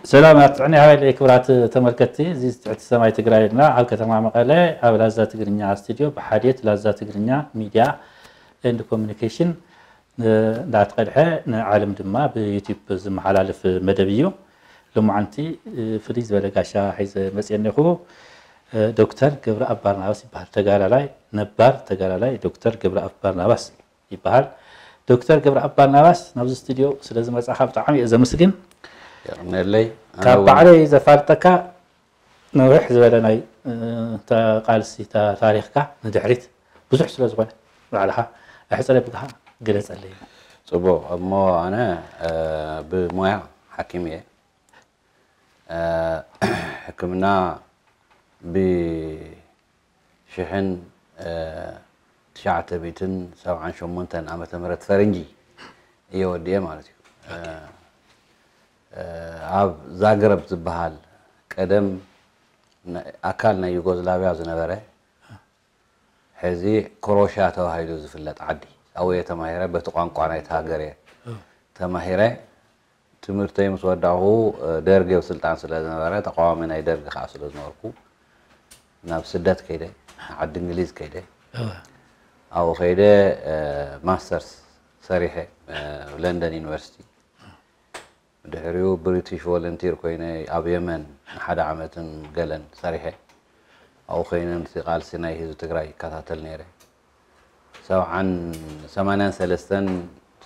ሰላም ኣብ ጥዕና ይሃበለይ ክቡራት ተመልከትቲ፣ እዚ ትሕቲ ሰማይ ትግራይ እና ኣብ ከተማ መቐለ ኣብ ላዛ ትግርኛ ስቱዲዮ ብሓድየት ላዛ ትግርኛ ሚድያ ኤንድ ኮሚኒኬሽን እንዳተቐድሐ ንዓለም ድማ ብዩቲዩብ ዝመሓላለፍ መደብ እዩ። ሎማዓንቲ ፍልይ ዝበለ ጋሻ ሒዘ መፅየ እኒኹ። ዶክተር ገብረኣብ ባርናባስ ይበሃል። ተጋዳላይ፣ ነባር ተጋዳላይ ዶክተር ገብረኣብ ባርናባስ ይበሃል። ዶክተር ገብረኣብ ባርናባስ ናብዚ ስቱዲዮ ስለ ዝመፃኻ ብጣዕሚ እየ ዘመስግን። የቕነለይ። ኣነ ካብ እውን ባዕለይ ዘፋልጠካ ነውሕ ዝበለ ናይ እ፣ ተ- ቃልሲ ታ- ታሪኽካ ንድሕሪት ብዙሕ ስለ ዝኾነ ባዕልኻ ኣሕፅረ ብግሃ ግለፀለይ። ጽቡቕ እሞ ኣነ እ፣ ብሞያ ሓኪም እየ። እ፣ ሕክምና ብሽሕን እ፣ ትሽዓተ ሚእትን ሰብዓን ሸሞንተን ዓመተ ምህረት ፈረንጂ እየ ወዲኤ ማለት እዩ። እ፣ እ፣ ኣብ ዛግረብ ዝበሃል ቀደም ና- ኣካል ናይ ዩጎዝላቪያ ዝነበረ ሕዚ ክሮሽያ ተባሂሉ ዝፍለጥ ዓዲ ኣብኡ እየ ተማሂረ። በቲ ቋንቋ ናይቲ ሃገር እየ ተማሂረ። ትምህርተይ ምስ ወዳእኹ ደርግ ኣብ ስልጣን ስለ ዝነበረ ተቃዋሚ ናይ ደርግ ከዓ ስለ ዝነበርኩ ናብ ስደት ከይደ፣ ዓዲ እንግሊዝ ከይደ። ኣብኡ ከይደ ማስተርስ ሰሪሐ ለንደን ዩኒቨርሲቲ። ድሕሪኡ ብሪቲሽ ቮለንቲር ኮይነ ኣብ የመን ንሓደ ዓመትን ገለን ሰሪሐ። ኣብኡ ኮይነ ነቲ ቃልሲ ናይ ህዝቢ ትግራይ ይከታተል ነይረ። ሰብዓን ሰማንያን ሰለስተን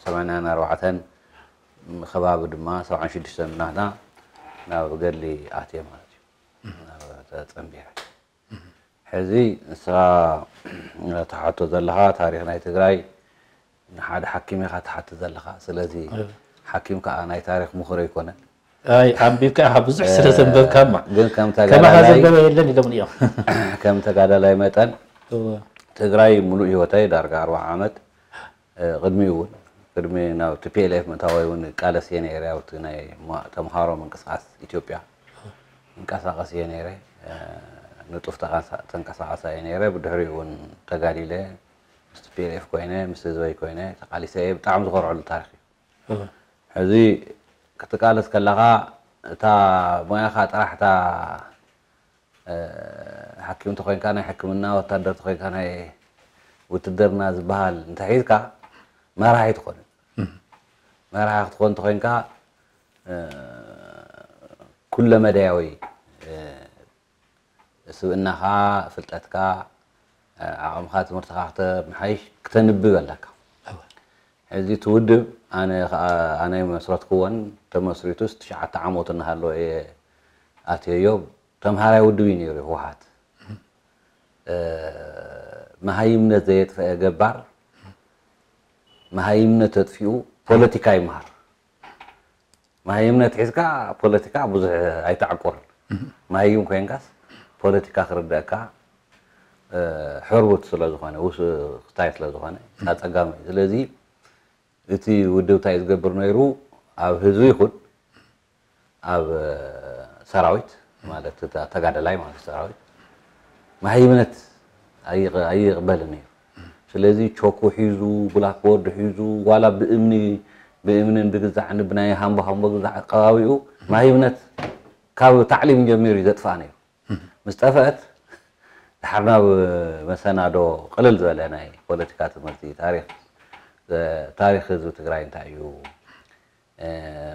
ሰማንያን ኣርባዕተን ከባቢ ድማ ሰብዓን ሽዱሽተን ናህና ናብ ገድሊ ኣትየ ማለት እዩ። ናብ ተፀንቢረ። ሕዚ ንስኻ ትሓቶ ዘለኻ ታሪኽ ናይ ትግራይ ንሓደ ሓኪም ኢኻ ትሓትት ዘለኻ። ስለዚ ሓኪም ከዓ ናይ ታሪኽ ምሁር ኣይኮነን። ኣይ ኣንቢብካ ኢኻ ብዙሕ ስለ ዘንበብካማ ግን ከም ከማኻ ተጋዳላይ ዘንበበ የለን ኢሎም እዮም። ከም ተጋዳላይ መጠን እወ። ትግራይ ሙሉእ ህይወተይ ዳርጋ ኣርባዓ ዓመት እ፣ ቅድሚኡ እውን ቅድሚ ናብ ቲ ፒ ኤል ኤፍ ምእታወይ እውን ቃለስ እየ ነይረ። ኣብቲ ናይ ማ- ተምሃሮ ምንቅስቃስ ኢትዮጵያ እንቀሳቀስ እየ ነይረ። እ፣ ንጡፍ ተቃሳ- ተንቀሳቃሳይ እየ ነይረ። ብድሕሪኡ እውን ተጋዲለ ምስ ቲ ፒ ኤል ኤፍ ኮይነ ምስ ህዝበይ ኮይነ ተቃሊሰ እየ። ብጣዕሚ ዝኮርዐሉ ታሪክ እዩ። ሕዚ ክትቃለስ ከለኻ እታ ሞያኻ ጥራሕ እታ እ፣ ሓኪም ተኮይንካ ናይ ሕክምና፣ ወታደር ተኮይንካ ናይ ውትድርና ዝበሃል እንተሒዝካ መራሒ ትኾን። መራሒ ክትኾን ተኮይንካ እ፣ ኩለመዳያዊ እ፣ ስብእናኻ፣ ፍልጠትካ፣ እ፣ ዓቕምኻ፣ ትምህርትኻ ክተመሓይሽ ክተንብብ ኣለካ። ሕዚ እቲ ውድብ ኣነ ከዓ ኣነ መስረትክዎን ተመስሪቱስ ትሽዓተ ዓመቱ እናሃለወ እየ ኣትየዮ። ተምሃራይ ውድብ እዩ ነይሩ ህወሓት። እ፣ መሃይምነት ዘየጥፈአ ገባር መሃይምነት ተጥፊኡ ፖለቲካ ይምሃር። መሃይምነት ሒዝካ ፖለቲካ ብዙሕ ኣይተዓቁርን። መሃይም ኮይንካስ ፖለቲካ ክርደአካ እ፣ ሕርቡት ስለ ዝኾነ ውስክታይ ስለ ዝኾነ ኣፀጋሚ እዩ። ስለዚ እቲ ውድብ እንታይ እዩ ዝገብር ነይሩ ኣብ ህዝቢ ይኹን ኣብ ሰራዊት ማለት እታ ተጋደላይ ማለት ሰራዊት መሃይምነት ኣይቕ- ኣይቕበልን እዩ። ስለዚ ቾኩ ሒዙ ብላክቦርድ ሒዙ ዋላ ብእምኒ ብእምንን ብግዛዕን ብናይ ሃምቦ ሃምቦ ግዛዕ ኣቀባቢኡ መሃይምነት ካብ ታዕሊም ጀሚሩ እዩ ዘጥፍኣ ነይሩ። ምስ ጠፍአት ድሓር ናብ መሰናዶ ቅልል ዝበለ ናይ ፖለቲካ ትምህርቲ ታሪክ ታሪክ ህዝቢ ትግራይ እንታይ እዩ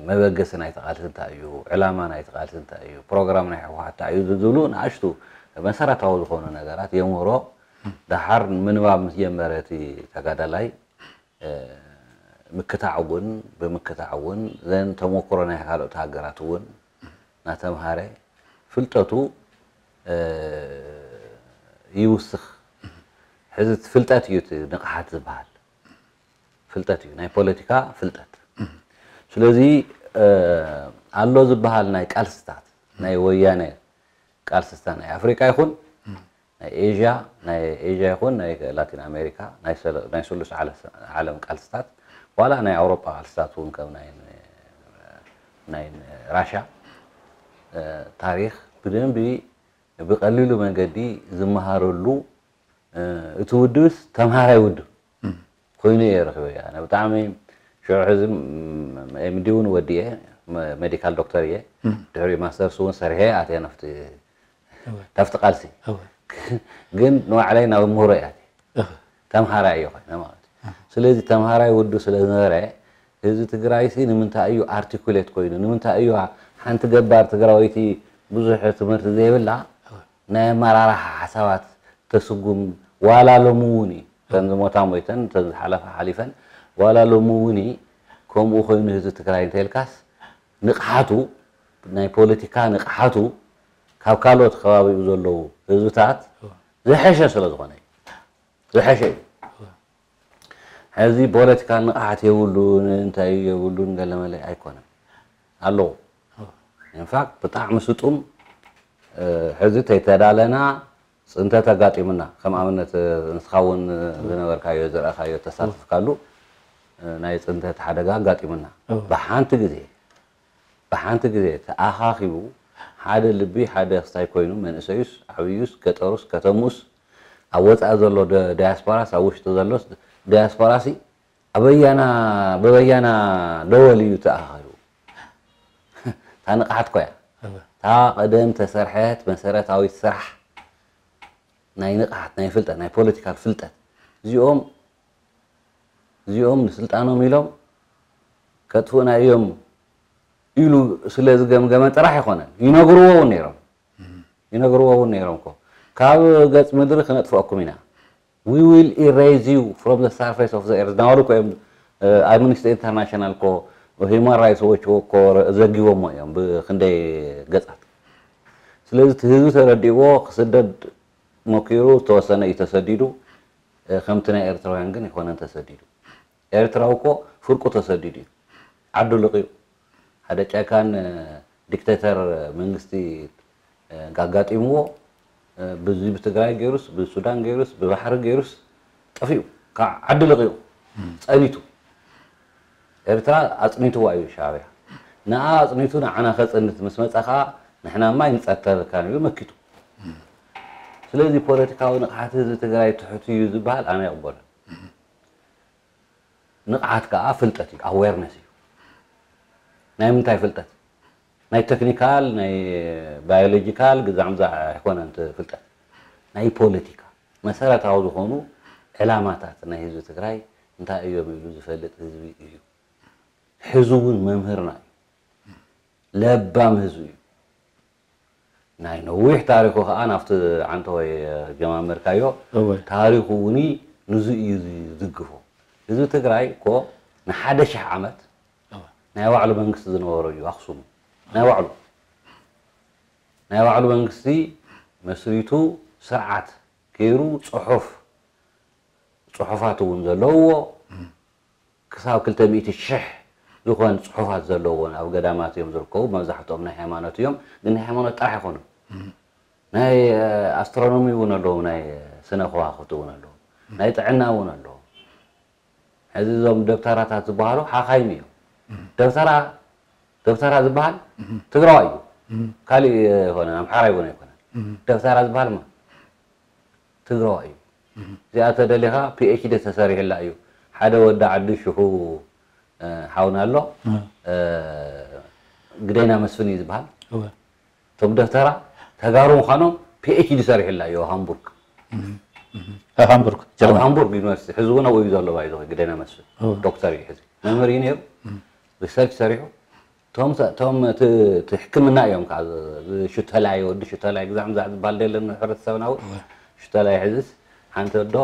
መበገሲ ናይቲ ቃልሲ እንታይ እዩ፣ ዕላማ ናይቲ ቃልሲ እንታይ እዩ፣ ፕሮግራም ናይ ህወሓት እንታይ እዩ ዝብሉ ንኣሽቱ መሰረታዊ ዝኾኑ ነገራት የምህሮ። ደሓር ምንባብ ምስ ጀመረ እቲ ተጋዳላይ ምክታዕ እውን ብምክታዕ እውን ዘን ተሞክሮ ናይ ካልኦት ሃገራት እውን እናተምሃረ ፍልጠቱ ይውስኽ። ሕዚ እቲ ፍልጠት እዩ እቲ ንቕሓት ዝበሃል። ፍልጠት እዩ ናይ ፖለቲካ ፍልጠት። ስለዚ ኣሎ ዝበሃል ናይ ቃልስታት ናይ ወያነ ቃልስታት ናይ ኣፍሪቃ ይኹን ናይ ኤዥያ ናይ ኤዥያ ይኹን ናይ ላቲን ኣሜሪካ ናይ ሰለ- ናይ ስሉስ ዓለ- ዓለም ቃልስታት ዋላ ናይ ኣውሮጳ ቃልስታት እውን ከም ናይ ናይ ራሻ ታሪክ ብደንቢ ብቀሊሉ መንገዲ ዝመሃረሉ እቲ ውድብስ ተምሃራይ ውድብ ኮይኑ እየ ረኺበ። ኣነ ብጣዕሚ ሽዑ ሕዚ ኤምዲ እውን ወዲኤ ሜዲካል ዶክተር እየ። ድሕሪ ማስተርስ እውን ሰርሐ ኣትየ ናብቲ ናብቲ ቃልሲ። ግን ንባዕለይ ናብ ምህሮ እየ ኣትየ። ተምሃራይ እየ ኮይነ ማለት እዩ። ስለዚ ተምሃራይ ውዱ ስለ ዝነበረ ህዝቢ ትግራይሲ ንምንታይ እዩ ኣርቲኩሌት ኮይኑ፣ ንምንታይ እዩ ሓንቲ ገባር ትግራወይቲ ብዙሕ ትምህርቲ ዘይብላ ናይ ኣመራርሓ ሓሳባት ተስጉም? ዋላ ሎሚ እውን እዩ፣ እተን ዝሞታ ሞይተን፣ እተን ዝሓለፋ ሓሊፈን፣ ዋላ ሎሚ እውን እዩ። ከምኡ ኮይኑ ህዝቢ ትግራይ እንተልካስ ንቕሓቱ፣ ናይ ፖለቲካ ንቕሓቱ ካብ ካልኦት ከባቢኡ ዘለዉ ህዝብታት ዝሐሸ ስለ ዝኾነ እዩ። ዝሐሸ እዩ። ሕዚ ፖለቲካ ንቕሓት የብሉን፣ እንታይ የብሉን፣ ገለመለ ኣይኮነን። ኣለዎ። ኢንፋክት ብጣዕሚ ስጡም፣ ሕዚ ተይተዳለና ጽንተት ኣጋጢሙና። ከም ኣብነት ንስኻ እውን ዝነበርካዮ፣ ዝረኣኻዮ፣ ተሳተፍካሉ ናይ ጽንተት ሓደጋ ኣጋጢሙና። ብሓንቲ ግዜ፣ ብሓንቲ ግዜ ተኣኻኺቡ ሓደ ልቢ ሓደ ክስታይ ኮይኑ መንእሰዩስ ዓብዩስ ገጠሩስ ከተምኡስ ኣብ ወፃኢ ዘሎ ደ-፣ ዳያስፖራስ ኣብ ውሽጢ ዘሎስ ዳያስፖራሲ ኣበያና በበያና ደወል እዩ ተኣኻኺቡ። እታ ንቕሓት ኮያ እታ ቀደም ተሰርሐት መሰረታዊት ስራሕ ናይ ንቕሓት ናይ ፍልጠት ናይ ፖለቲካል ፍልጠት እዚኦም እዚኦም ንስልጣኖም ኢሎም ከጥፍኡና እዮም ኢሉ ስለ ዝገምገመ ጥራሕ ኣይኮነን። ይነግርዎ እውን ነይሮም። ይነግርዎ እውን ነይሮም እኮ ካብ ገጽ ምድሪ ክነጥፍኣኩም ኢና። We will erase you from the surface of the earth። ናበሉ እኮ እዮም ኣምነስቲ ኢንተርናሽናል እኮ ሂማን ራይትስ ዎች እኮ ዘጊቦሞ እዮም ብክንደይ ገጻት። ስለዚ እቲ ህዝቢ ተረዲእዎ ክስደድ ሞኪሩ ዝተወሰነ እዩ ተሰዲዱ። ከምቲ ናይ ኤርትራውያን ግን ኣይኮነን ተሰዲዱ። ኤርትራዊ እኮ ፍርቁ ተሰዲዱ እዩ። ዓዱ ልቕዩ። ሓደ ጨካን ዲክቴተር መንግስቲ ኣጋጢምዎ ብዚ ብትግራይ ገይሩስ ብሱዳን ገይሩስ ብባሕሪ ገይሩስ ጠፊኡ። ካብ ዓዲ ልቕዩ ጸኒቱ። ኤርትራ ኣጽኒትዋ እዩ ሻዕብያ። ንኣ ኣጽኒቱ ንዓና ከጽንት ምስ መጸ ከኣ ንሕና ማይ ንጸተልካ ኢሉ መኪቱ። ስለዚ ፖለቲካዊ ንቕሓት ህዝቢ ትግራይ ትሑት እዩ ዝበሃል ኣነ ይቕበሎ። ንቕሓት ከኣ ፍልጠት እዩ፣ ኣዌርነስ እዩ። ናይ ምንታይ ፍልጠት? ናይ ቴክኒካል፣ ናይ ባዮሎጂካል ግዛዕ ምዛዕ ኣይኮነን እቲ ፍልጠት። ናይ ፖለቲካ መሰረታዊ ዝኾኑ ዕላማታት ናይ ህዝቢ ትግራይ እንታይ እዮም ኢሉ ዝፈልጥ ህዝቢ እዩ። ህዝቢ እውን መምህርና እዩ። ለባም ህዝቢ እዩ። ናይ ነዊሕ ታሪኹ ከዓ ናብቲ ዓንተወይ ጀማመርካዮ። እወ። ታሪኹ እውን ንዙ እዩ ዝድግፎ። ህዝቢ ትግራይ እኮ ንሓደ ሽሕ ዓመት እወ። ናይ ባዕሉ መንግስቲ ዝነበሮ እዩ ኣኽሱም። ናይ ባዕሉ ናይ ባዕሉ መንግስቲ መስሪቱ ስርዓት ገይሩ ጽሑፍ ጽሑፋት እውን ዘለውዎ ክሳብ ክልተ ሚእቲ ሽሕ ዝኾን ጽሑፋት ዘለውዎን ኣብ ገዳማት እዮም ዝርከቡ። መብዛሕትኦም ናይ ሃይማኖት እዮም፣ ግን ናይ ሃይማኖት ጥራሕ ኣይኮኑን። ናይ ኣስትሮኖሚ እውን ኣለዉ፣ ናይ ስነ ከዋኽብቲ እውን ኣለዉ፣ ናይ ጥዕና እውን ኣለዉ። ሕዚ እዞም ደብተራታት ዝበሃሉ ሓኻይም እዮም። ደብተራ ደብተራ ዝበሃል ትግራዋይ እዩ። ካሊእ ኣይኮነን፣ ኣምሓራ ይኮነ ኣይኮነን። ደብተራ ዝበሃል ማ ትግራዋይ እዩ። እዚኣ ተደሊኻ ፒ ኤች ዲ ተሰሪሕላ እዩ። ሓደ ወዲ ዓዲ ሽሑ ሓውና ኣሎ፣ ግደይና መስፍን እዩ ዝበሃል። እቶም ደብተራ ተጋሩ ምዃኖም ፒ ኤች ዲ ሰሪሕላ እዩ ኣብ ሃምቡርግ። ኣብ ሃምቡርግ ኣብ ጀርመን። ሃምቡርግ ዩኒቨርሲቲ ሕዚ እውን ኣብኡ እዩ ዘሎ። ባይዘ ግደይና መስፍን እወ። ዶክተር እዩ ሕዚ፣ መምህር እዩ ነይሩ። ሪሰርች ሰሪሑ እቶም እቶም እቲ እቲ ሕክምና እዮም ከዓ ሽተላይ ወዲ ሽተላይ ግዛዕ ምዛዕ ዝበሃል ደለን ሕብረተሰብና እውን ሽተላይ ሕዝስ ሓንቲ ወዶ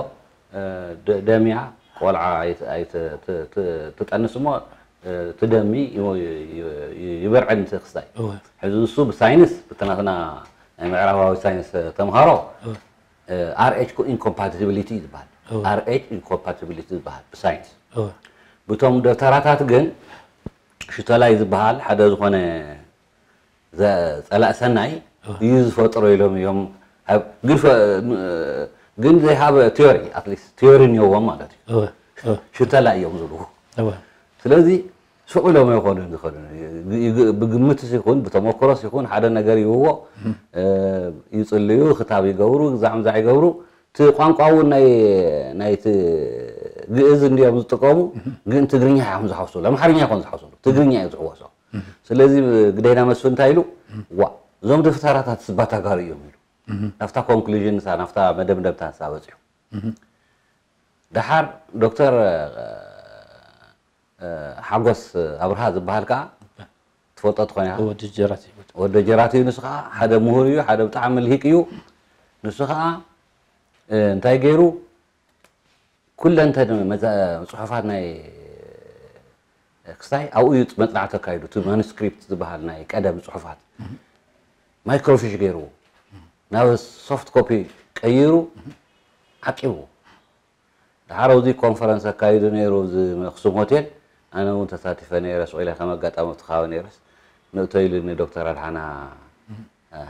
ደሚያ ቆልዓ ትጠንስ እሞ እቲ ደሚ ይበርዕን እቲ ክስታይ። ሕዚ እሱ ብሳይንስ ብቲ ናትና ናይ ምዕራባዊ ሳይንስ ተምሃሮ ኣር ኤች ኢንኮምፓቲቢሊቲ ዝበሃል ኣር ኤች ኢንኮምፓቲቢሊቲ ዝበሃል ብሳይንስ ብቶም ደብተራታት ግን ሽተላይ ዝበሃል ሓደ ዝኾነ ጸላእ ሰናይ እዩ ዝፈጥሮ ኢሎም እዮም። ግን they have theory, at least theory እኒኦዎም ማለት እዩ። ሽተላ እዮም ዝብልዎ። ስለዚ ሱቕ ኢሎም ኣይኮኑን ዝኸዱ። ብግምትስ ይኹን ብተመክሮስ ይኹን ሓደ ነገር ይብዎ፣ ይጽልዩ፣ ክታብ ይገብሩ፣ ግዛዕ ምዛዕ ይገብሩ። እቲ ቋንቋ እውን ናይ ናይቲ ግእዝ እንዲዮም ዝጥቀሙ፣ ግን ትግርኛ እዮም ዝሓውሱሉ፣ ኣምሓርኛ ኣይኮን ዝሓውሱሉ፣ ትግርኛ እዮም ዝሕወሶ። ስለዚ ግደይና መስፍን እንታይ ኢሉ? ዋ፣ እዞም ደፍተራታት ስባ ተጋሩ እዮም ኢሉ። ናብታ ኮንክሉዥን ንሳ ናብታ መደምደምታ ንሳ በፂሑ። ደሓር ዶክተር ሓጎስ ኣብርሃ ዝበሃል ከዓ ትፈልጦ ትኾን ኢኻ። ወዲ ጀራት እዩ። ወዲ ጀራት እዩ። ንሱ ከዓ ሓደ ምሁር እዩ፣ ሓደ ብጣዕሚ ልሂቅ እዩ። ንሱ ከዓ እንታይ ገይሩ? ኩለንተን መዛ- ፅሑፋት ናይ ክስታይ ኣብኡ እዩ መፅናዕቲ ኣካይዱ። እቲ ማኑስክሪፕት ዝበሃል ናይ ቀደም ፅሑፋት ማይክሮፊሽ ገይርዎ ናብ ሶፍት ኮፒ ቀይሩ ዓቂቡ። ድሓር ኣብዚ ኮንፈረንስ ኣካይዱ ነይሩ ኣብዚ ኣክሱም ሆቴል። ኣነ እውን ተሳቲፈ ነይረ። ስቕ ኢለ ከም ኣጋጣሚ ኣብቲ ከባቢ ነይረስ ንእቶ ኢሉኒ ዶክተር ኣድሓና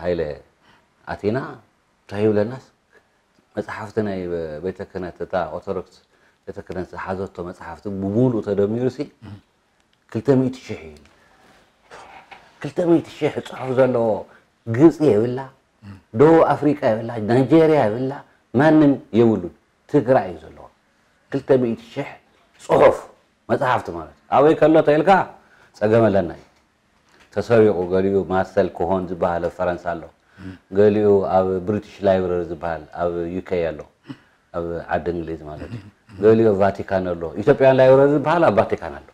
ሃይለ ኣቲና እንታይ ይብለናስ መፅሓፍቲ ናይ ቤተ ክህነት እታ ኦርቶዶክስ ቤተ ክህነት ዝሓዘቶ መፅሓፍቲ ብሙሉእ ተደሚሩ ሲ ክልተ ሚእቲ ሽሕ እዩ። ክልተ ሚእቲ ሽሕ ፅሑፍ ዘለዎ ግብፂ የብላ፣ ደቡብ ኣፍሪቃ የብላ፣ ናይጄርያ የብላ፣ ማንም የብሉን። ትግራይ እዩ ዘለዎ። ክልተ ሚእቲ ሽሕ ፅሑፍ መፅሓፍቲ ማለት እዩ። ኣበይ ከሎ ተኢልካ ፀገም ኣለና እዩ። ተሰሪቑ ገሊኡ ማርሰል ኮሆን ዝበሃል ኣብ ፈረንሳ ኣሎ። ገሊኡ ኣብ ብሪቲሽ ላይብረሪ ዝበሃል ኣብ ዩ ኬ ኣሎ፣ ኣብ ዓዲ እንግሊዝ ማለት እዩ። ገሊኡ ኣብ ቫቲካን ኣሎ። ኢትዮጵያን ላይብረሪ ዝበሃል ኣብ ቫቲካን ኣሎ።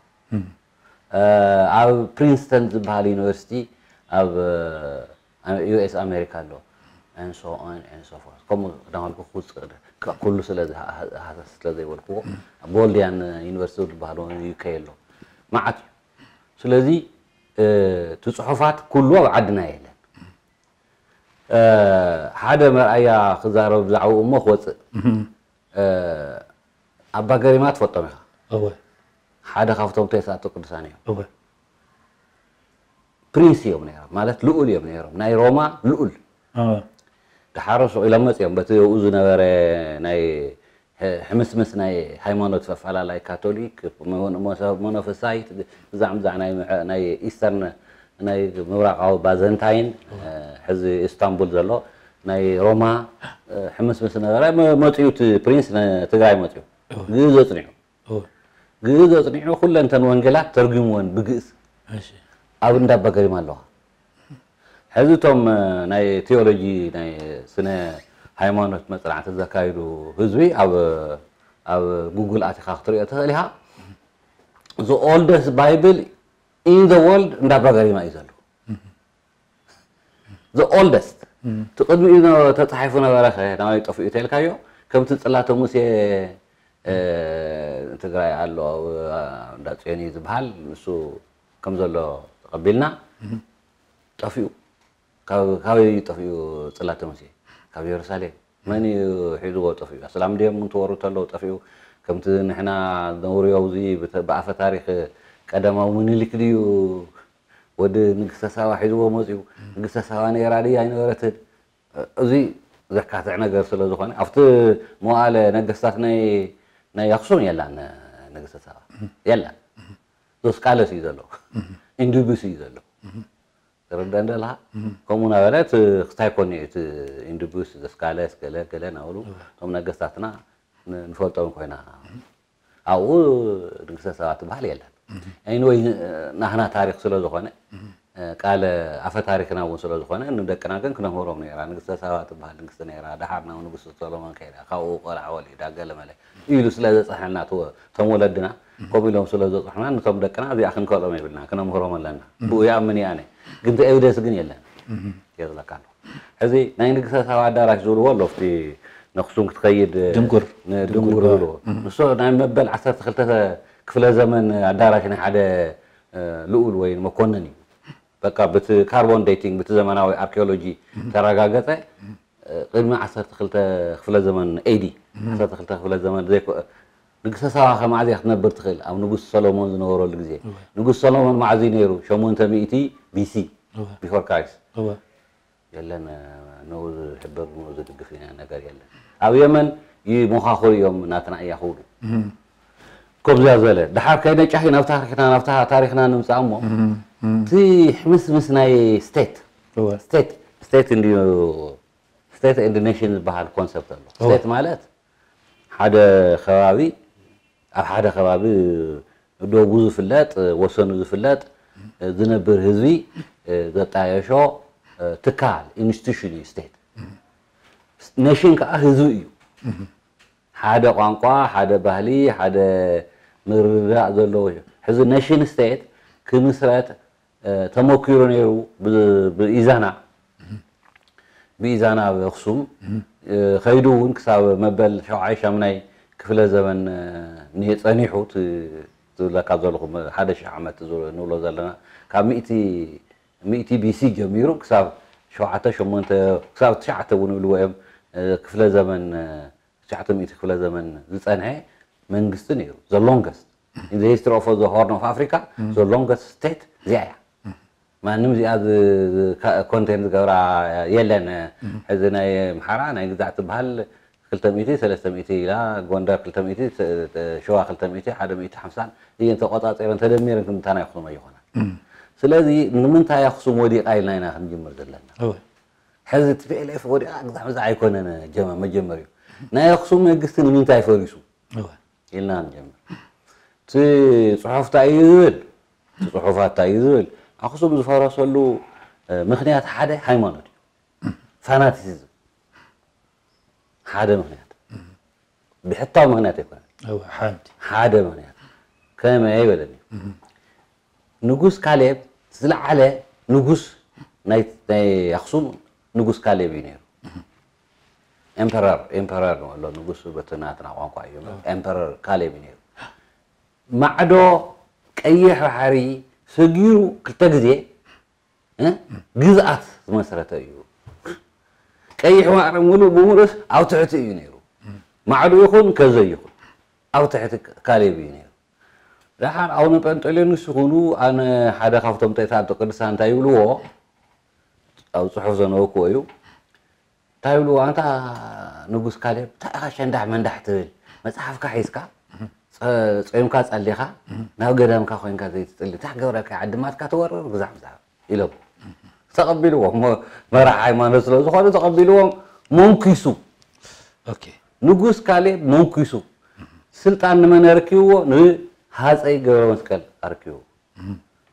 ኣብ ፕሪንስተን ዝበሃል ዩኒቨርሲቲ ኣብ ዩ ኤስ ኣሜሪካ ኣሎ። And so on and so forth። ከምኡ እናበልኩ ክውፅእ ደ- ካ- ኩሉ ስለ ዝሃ- ሃ- ስለ ዘይበልክዎ ቦልዲያን ዩኒቨርሲቲ ዝበሃል ዩ ኬ ኣሎ። መዓት እዩ። ስለዚ እቲ ፅሑፋት ኩሉ ኣብ ዓድና የለን። ሓደ መርኣያ ክዛረብ ብዛዕባኡ እሞ ክወፅእ። ኣባ ገሪማ ትፈልጦም ኢኻ። እወ ሓደ ካብቶም ተስዓቱ ቅዱሳን እዮም። እወ ፕሪንስ እዮም ነይሮም ማለት ልኡል እዮም ነይሮም ናይ ሮማ ልኡል። እወ ድሓር ሱቕ ኢሎም መፅኦም በቲ ኣብኡ ዝነበረ ናይ ሕ- ሕምስምስ ናይ ሃይማኖት ፈፈላላይ ካቶሊክ ሞኖ- ሞኖ- ሞኖፍሳይት ብዛዕ ብዛዕ ናይ ምዕ- ናይ ኢስተርን ናይ ምብራቃዊ ባዘንታይን ሕዚ ኢስታንቡል ዘሎ ናይ ሮማ ሕምስምስ ነበረ። መ- መፅኡ እቲ ፕሪንስ ንትግራይ መፅኡ ግእዝ ኣፅኒዑ እወ ግእዝ ኣፅኒዑ ኩለንተን ወንጌላት ተርጉምወን ብግእዝ እሺ ኣብ እንዳባ ገሪማ ኣለዋ። ሕዚ እቶም ናይ ቴዎሎጂ ናይ ስነ ሃይማኖት መፅናዕቲ ዘካይዱ ህዝቢ ኣብ ኣብ ጉግል ኣቲኻ ክትሪኦ ትኽእል ኢኻ። The oldest Bible in the world እንዳባ ገሪማ እዩ ዘሎ። The oldest እቲ ቅድሚኡ ነ- ተፃሒፉ ነበረ ኸ ናበይ ጠፊኡ ተልካዮ? ከምቲ ፅላተ ሙሴ እ፣ ትግራይ ኣሎ ኣብ እንዳ ፅዮን እዩ ዝበሃል ንሱ ከም ዘሎ ተቐቢልና ጠፊኡ። ካብ- ካበይ እዩ ጠፊኡ? ፅላተ ሙሴ ካብ ኢየሩሳሌም መን እዩ ሒዝዎ ጠፊኡ? ኣስላም ድዮም እንትወሩ ተለዉ ጠፊኡ። ከምቲ ንሕና ነውርዮ እዚ ብተ- ብኣፈ ታሪክ ቀዳማዊ ምኒልክ ድዩ ወዲ ንግስተ ሳባ ሒዝዎ መፅኡ? ንግስተ ሳባ ነይራ ድያ ኣይነበረትን? እዚ ዘካትዕ ነገር ስለ ዝኾነ ኣብቲ መዋእለ ነገስታት ናይ ናይ ኣክሱም የላን ንግስተ ሳባ የላን። ዞስቃለስ እዩ ዘሎ ኢንዱብስ እዩ ዘሎ። ተረዳ እንደላ ከምኡ ናበለት ክስታይ ኮኒ እቲ ኢንዱብስ ዘስካለስ ገለ ገለ ናብሉ እቶም ነገስታትና ን- ንፈልጦም ኮይና ኣብኡ ንግስተ ሳባ ትበሃል የለን። ኤኒወይ ናህና ታሪክ ስለ ዝኾነ ቃለ ኣፈ ታሪክና እውን ስለ ዝኾነ ንደቅና ግን ክነምህሮም ነራ። ንግስተ ሳባ ትበሃል ንግስቲ ነራ፣ ደሓር ናብ ንጉስ ሰሎሞን ከይዳ፣ ካብኡ ቆልዓ ወሊዳ ገለ መለ ኢሉ ስለ ዘፅሐና እቶም ወለድና ከምኡ ኢሎም ስለ ዘፅሑና ንቶም ደቅና እዚኣ ክንከሎም የብልና፣ ክነምህሮም ኣለና። ብኡ ይኣምን እየ ኣነ፣ ግን እቲ ኤቪደንስ ግን የለን። የዝለካ ኣሎ ሕዚ ናይ ንግስተ ሳባ ኣዳራሽ ዝብልዎ ኣሎ ኣብቲ ነክሱም ክትኸይድ ድንጉር ድንጉር ዝብልዎ ንሱ ናይ መበል ዓሰርተ ክልተ ክፍለ ዘመን ኣዳራሽ ናይ ሓደ ልኡል ወይ መኮንን እዩ። በቃ ብቲ ካርቦን ዴቲንግ ብቲ ዘመናዊ ኣርኪኦሎጂ ተረጋገፀ ቅድሚ ዓሰርተ ክልተ ክፍለ ዘመን ኤዲ ዓሰርተ ክልተ ክፍለ ዘመን ዘይኮ ንግስተ ሳባ ከማዕዝ እያ ክትነብር ትኽእል ኣብ ንጉስ ሰሎሞን ዝነበረሉ ግዜ ንጉስ ሰሎሞን ማዕዙ ነይሩ ሸሞንተ ሚእቲ ቢሲ ቢፎር ክራይስት የለን ንኡ ዝሕብር ንኡ ዝድግፍ ነገር የለን ኣብ የመን ይሞኻኽሩ እዮም ናትና እያ ክብሉ ከምዚያ ዝበለ ድሓር ከይነ ጫሂ ናብ ታሪክና ናብታ ታሪክና ንምፃእ እሞ እቲ ሕምስምስ ናይ ስቴት ስቴት ስቴት እንድዩ ስቴት ኤንድ ኔሽን ዝበሃል ኮንሰፕት ኣሎ ስቴት ማለት ሓደ ከባቢ ኣብ ሓደ ከባቢ ዶቡ ዝፍለጥ ወሰኑ ዝፍለጥ ዝነብር ህዝቢ ዘጣየሾ ትካል ኢንስቲቱሽን እዩ ስቴት። ኔሽን ከዓ ህዝቢ እዩ። ሓደ ቋንቋ፣ ሓደ ባህሊ፣ ሓደ ምርዳእ ዘለዎ እዩ። ሕዚ ኔሽን ስቴት ክምስረት ተመኪሩ ነይሩ። ብኢዛና ብኢዛና ኣብ ኣክሱም ከይዱ እውን ክሳብ መበል ሸውዓይ ሻምናይ ክፍለ ዘመን ጸኒሑ። ትብለካ ዘለኹ ሓደ ሺሕ ዓመት ንብሎ ዘለና ካብ ሚእቲ ሚእቲ ቢሲ ጀሚሩ ክሳብ ሸውዓተ ሸሞንተ ክሳብ ትሽዓተ እውን ይብልዎ እዮም። ክፍለ ዘመን ትሽዓተ ሚእቲ ክፍለ ዘመን ዝጸንሐ መንግስቲ ነይሩ። The longest in the history of the Horn of Africa, the longest state እዚኣ እያ። ማንም እዚኣ ኮንቴን ዝገብራ የለን። ሕዚ ናይ ኣምሓራ ናይ ግዛዕ ትበሃል ክልተ ሚእቲ ሰለስተ ሚእቲ ኢላ፣ ጎንደር ክልተ ሚእቲ፣ ሸዋ ክልተ ሚእቲ፣ ሓደ ሚእቲ ሓምሳን እየን ተቆጻጺረን ተደሚረን ክንታና ይኹኑ ኣይኾና። ስለዚ ንምንታይ ኣክሱም ወዲቓ ኢልና ኢና ክንጅምር ዘለና። ሕዚ ቲ ፒ ኤል ኤፍ ወዲቓ ግዛዕ ምዛዕ ኣይኮነን። መጀመሪኡ ናይ ኣክሱም መንግስቲ ንምንታይ ፈሪሱ ኢልና ንጀምር። እቲ ጽሑፍ እንታይ እዩ ዝብል? እቲ ጽሑፋት እንታይ እዩ ዝብል? ኣክሱም ዝፈረሰሉ ምክንያት ሓደ ሃይማኖት እዩ። ፋናቲሲዝም ሓደ ምክንያት፣ ብሕታዊ ምክንያት ኣይኮነን። ሓደ ምክንያት ከመይ በለኒ። ንጉስ ካሌብ ዝለዓለ ንጉስ ናይ ኣክሱም ንጉስ ካሌብ እዩ ነይሩ። ኤምፐረር፣ ኤምፐረር ንበሎ፣ ንጉስ በቲ ናትና ቋንቋ እዩ። ኤምፐረር ካሌብ እዩ ነይሩ። ማዕዶ ቀይሕ ባሕሪ ሰጊሩ ክልተ ግዜ ግዝኣት ዝመስረተ እዩ። ቀይሕ ባሕሪ ሙሉእ ብሙሉእስ ኣብ ትሕቲ እዩ ነይሩ። ማዕዶ ይኹን ከዘ ይኹን ኣብ ትሕቲ ካሌብ እዩ ነይሩ። ደሓር ኣቡነ ጴንጠሌዎን ይኹኑ፣ ኣነ ሓደ ካብቶም ተእታቶ ቅዱሳን እንታይ ይብልዎ፣ ኣብ ጽሑፍ ዘነበብክዎ እዩ። እንታይ ይብልዎ፣ ኣንታ ንጉስ ካሌብ እንታይ ኢኻ ሸንዳሕ መንዳሕ ትብል? መጽሓፍካ ሒዝካ ጸ- ጾምካ ጸሊኻ ናብ ገዳምካ ኮይንካ ዘይትጽሊ እንታይ ክገብረካ፣ ዓድማትካ ትወርር ግዛዕ ምዛዕ ኢሎም ተቐቢልዎም። መራሕ ሃይማኖት ስለ ዝኾኑ ተቐቢልዎም። መንኪሱ፣ ንጉስ ካሌብ መንኪሱ። ስልጣን ንመን ኣረኪብዎ? ንሃፀይ ገብረ መስቀል ኣረኪብዎ።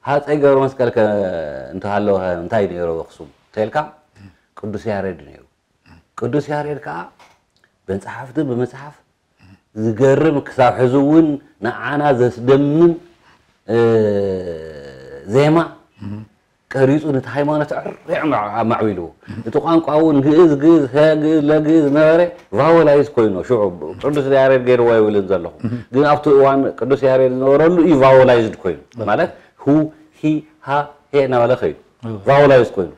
ሃፀይ ገብረ መስቀል ከ እንተሃለወ እንታይ ነይሩ ኣኽሱም ተልካ? ቅዱስ ያሬድ ነይሩ። ቅዱስ ያሬድ ከዓ ብመፅሓፍቲ ብመፅሓፍ ዝገርም ክሳብ ሕዚ እውን ንዓና ዘስደምም ዜማ ቀሪፁ ነቲ ሃይማኖት ዕሪዕ ኣማዕቢልዎ። እቲ ቋንቋ እውን ግእዝ ግእዝ ሀ ግእዝ ለግእዝ ነበረ። ቫወላይዝ ኮይኑ ሽዑ ቅዱስ ያሬድ ገይርዎ ኣይብልን ዘለኹ፣ ግን ኣብቲ እዋን ቅዱስ ያሬድ ዝነበረሉ እዩ ቫወላይዝድ ኮይኑ። ማለት ሁ ሂ ሃ ሄ እናበለ ከይዱ ቫወላይዝ ኮይኑ።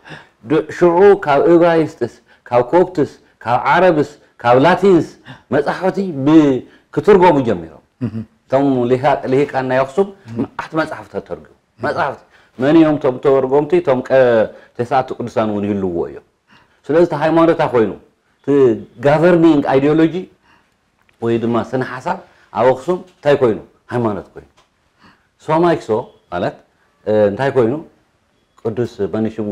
ሽዑ ካብ እብራይስጥስ ካብ ኮፕትስ ካብ ዓረብስ ካብ ላቲንስ መፃሕፍቲ ክትርጎሙ ጀሚሮም። እቶም ልሂቃን ናይ ኣኽሱም መዓት መፃሕፍቲ ተተርጉሙ። መፃሕፍቲ መን እዮም እቶም ተርጎምቲ? እቶም ተስዓቱ ቅዱሳን እውን ይህልዎ እዮም። ስለዚ እቲ ሃይማኖታ ኮይኑ እቲ ጋቨርኒንግ ኣይዲዮሎጂ ወይ ድማ ስነ ሓሳብ ኣብ ኣኽሱም እንታይ ኮይኑ? ሃይማኖት ኮይኑ። ሶማይክሶ ማለት እንታይ ኮይኑ? ቅዱስ መን ሽሙ?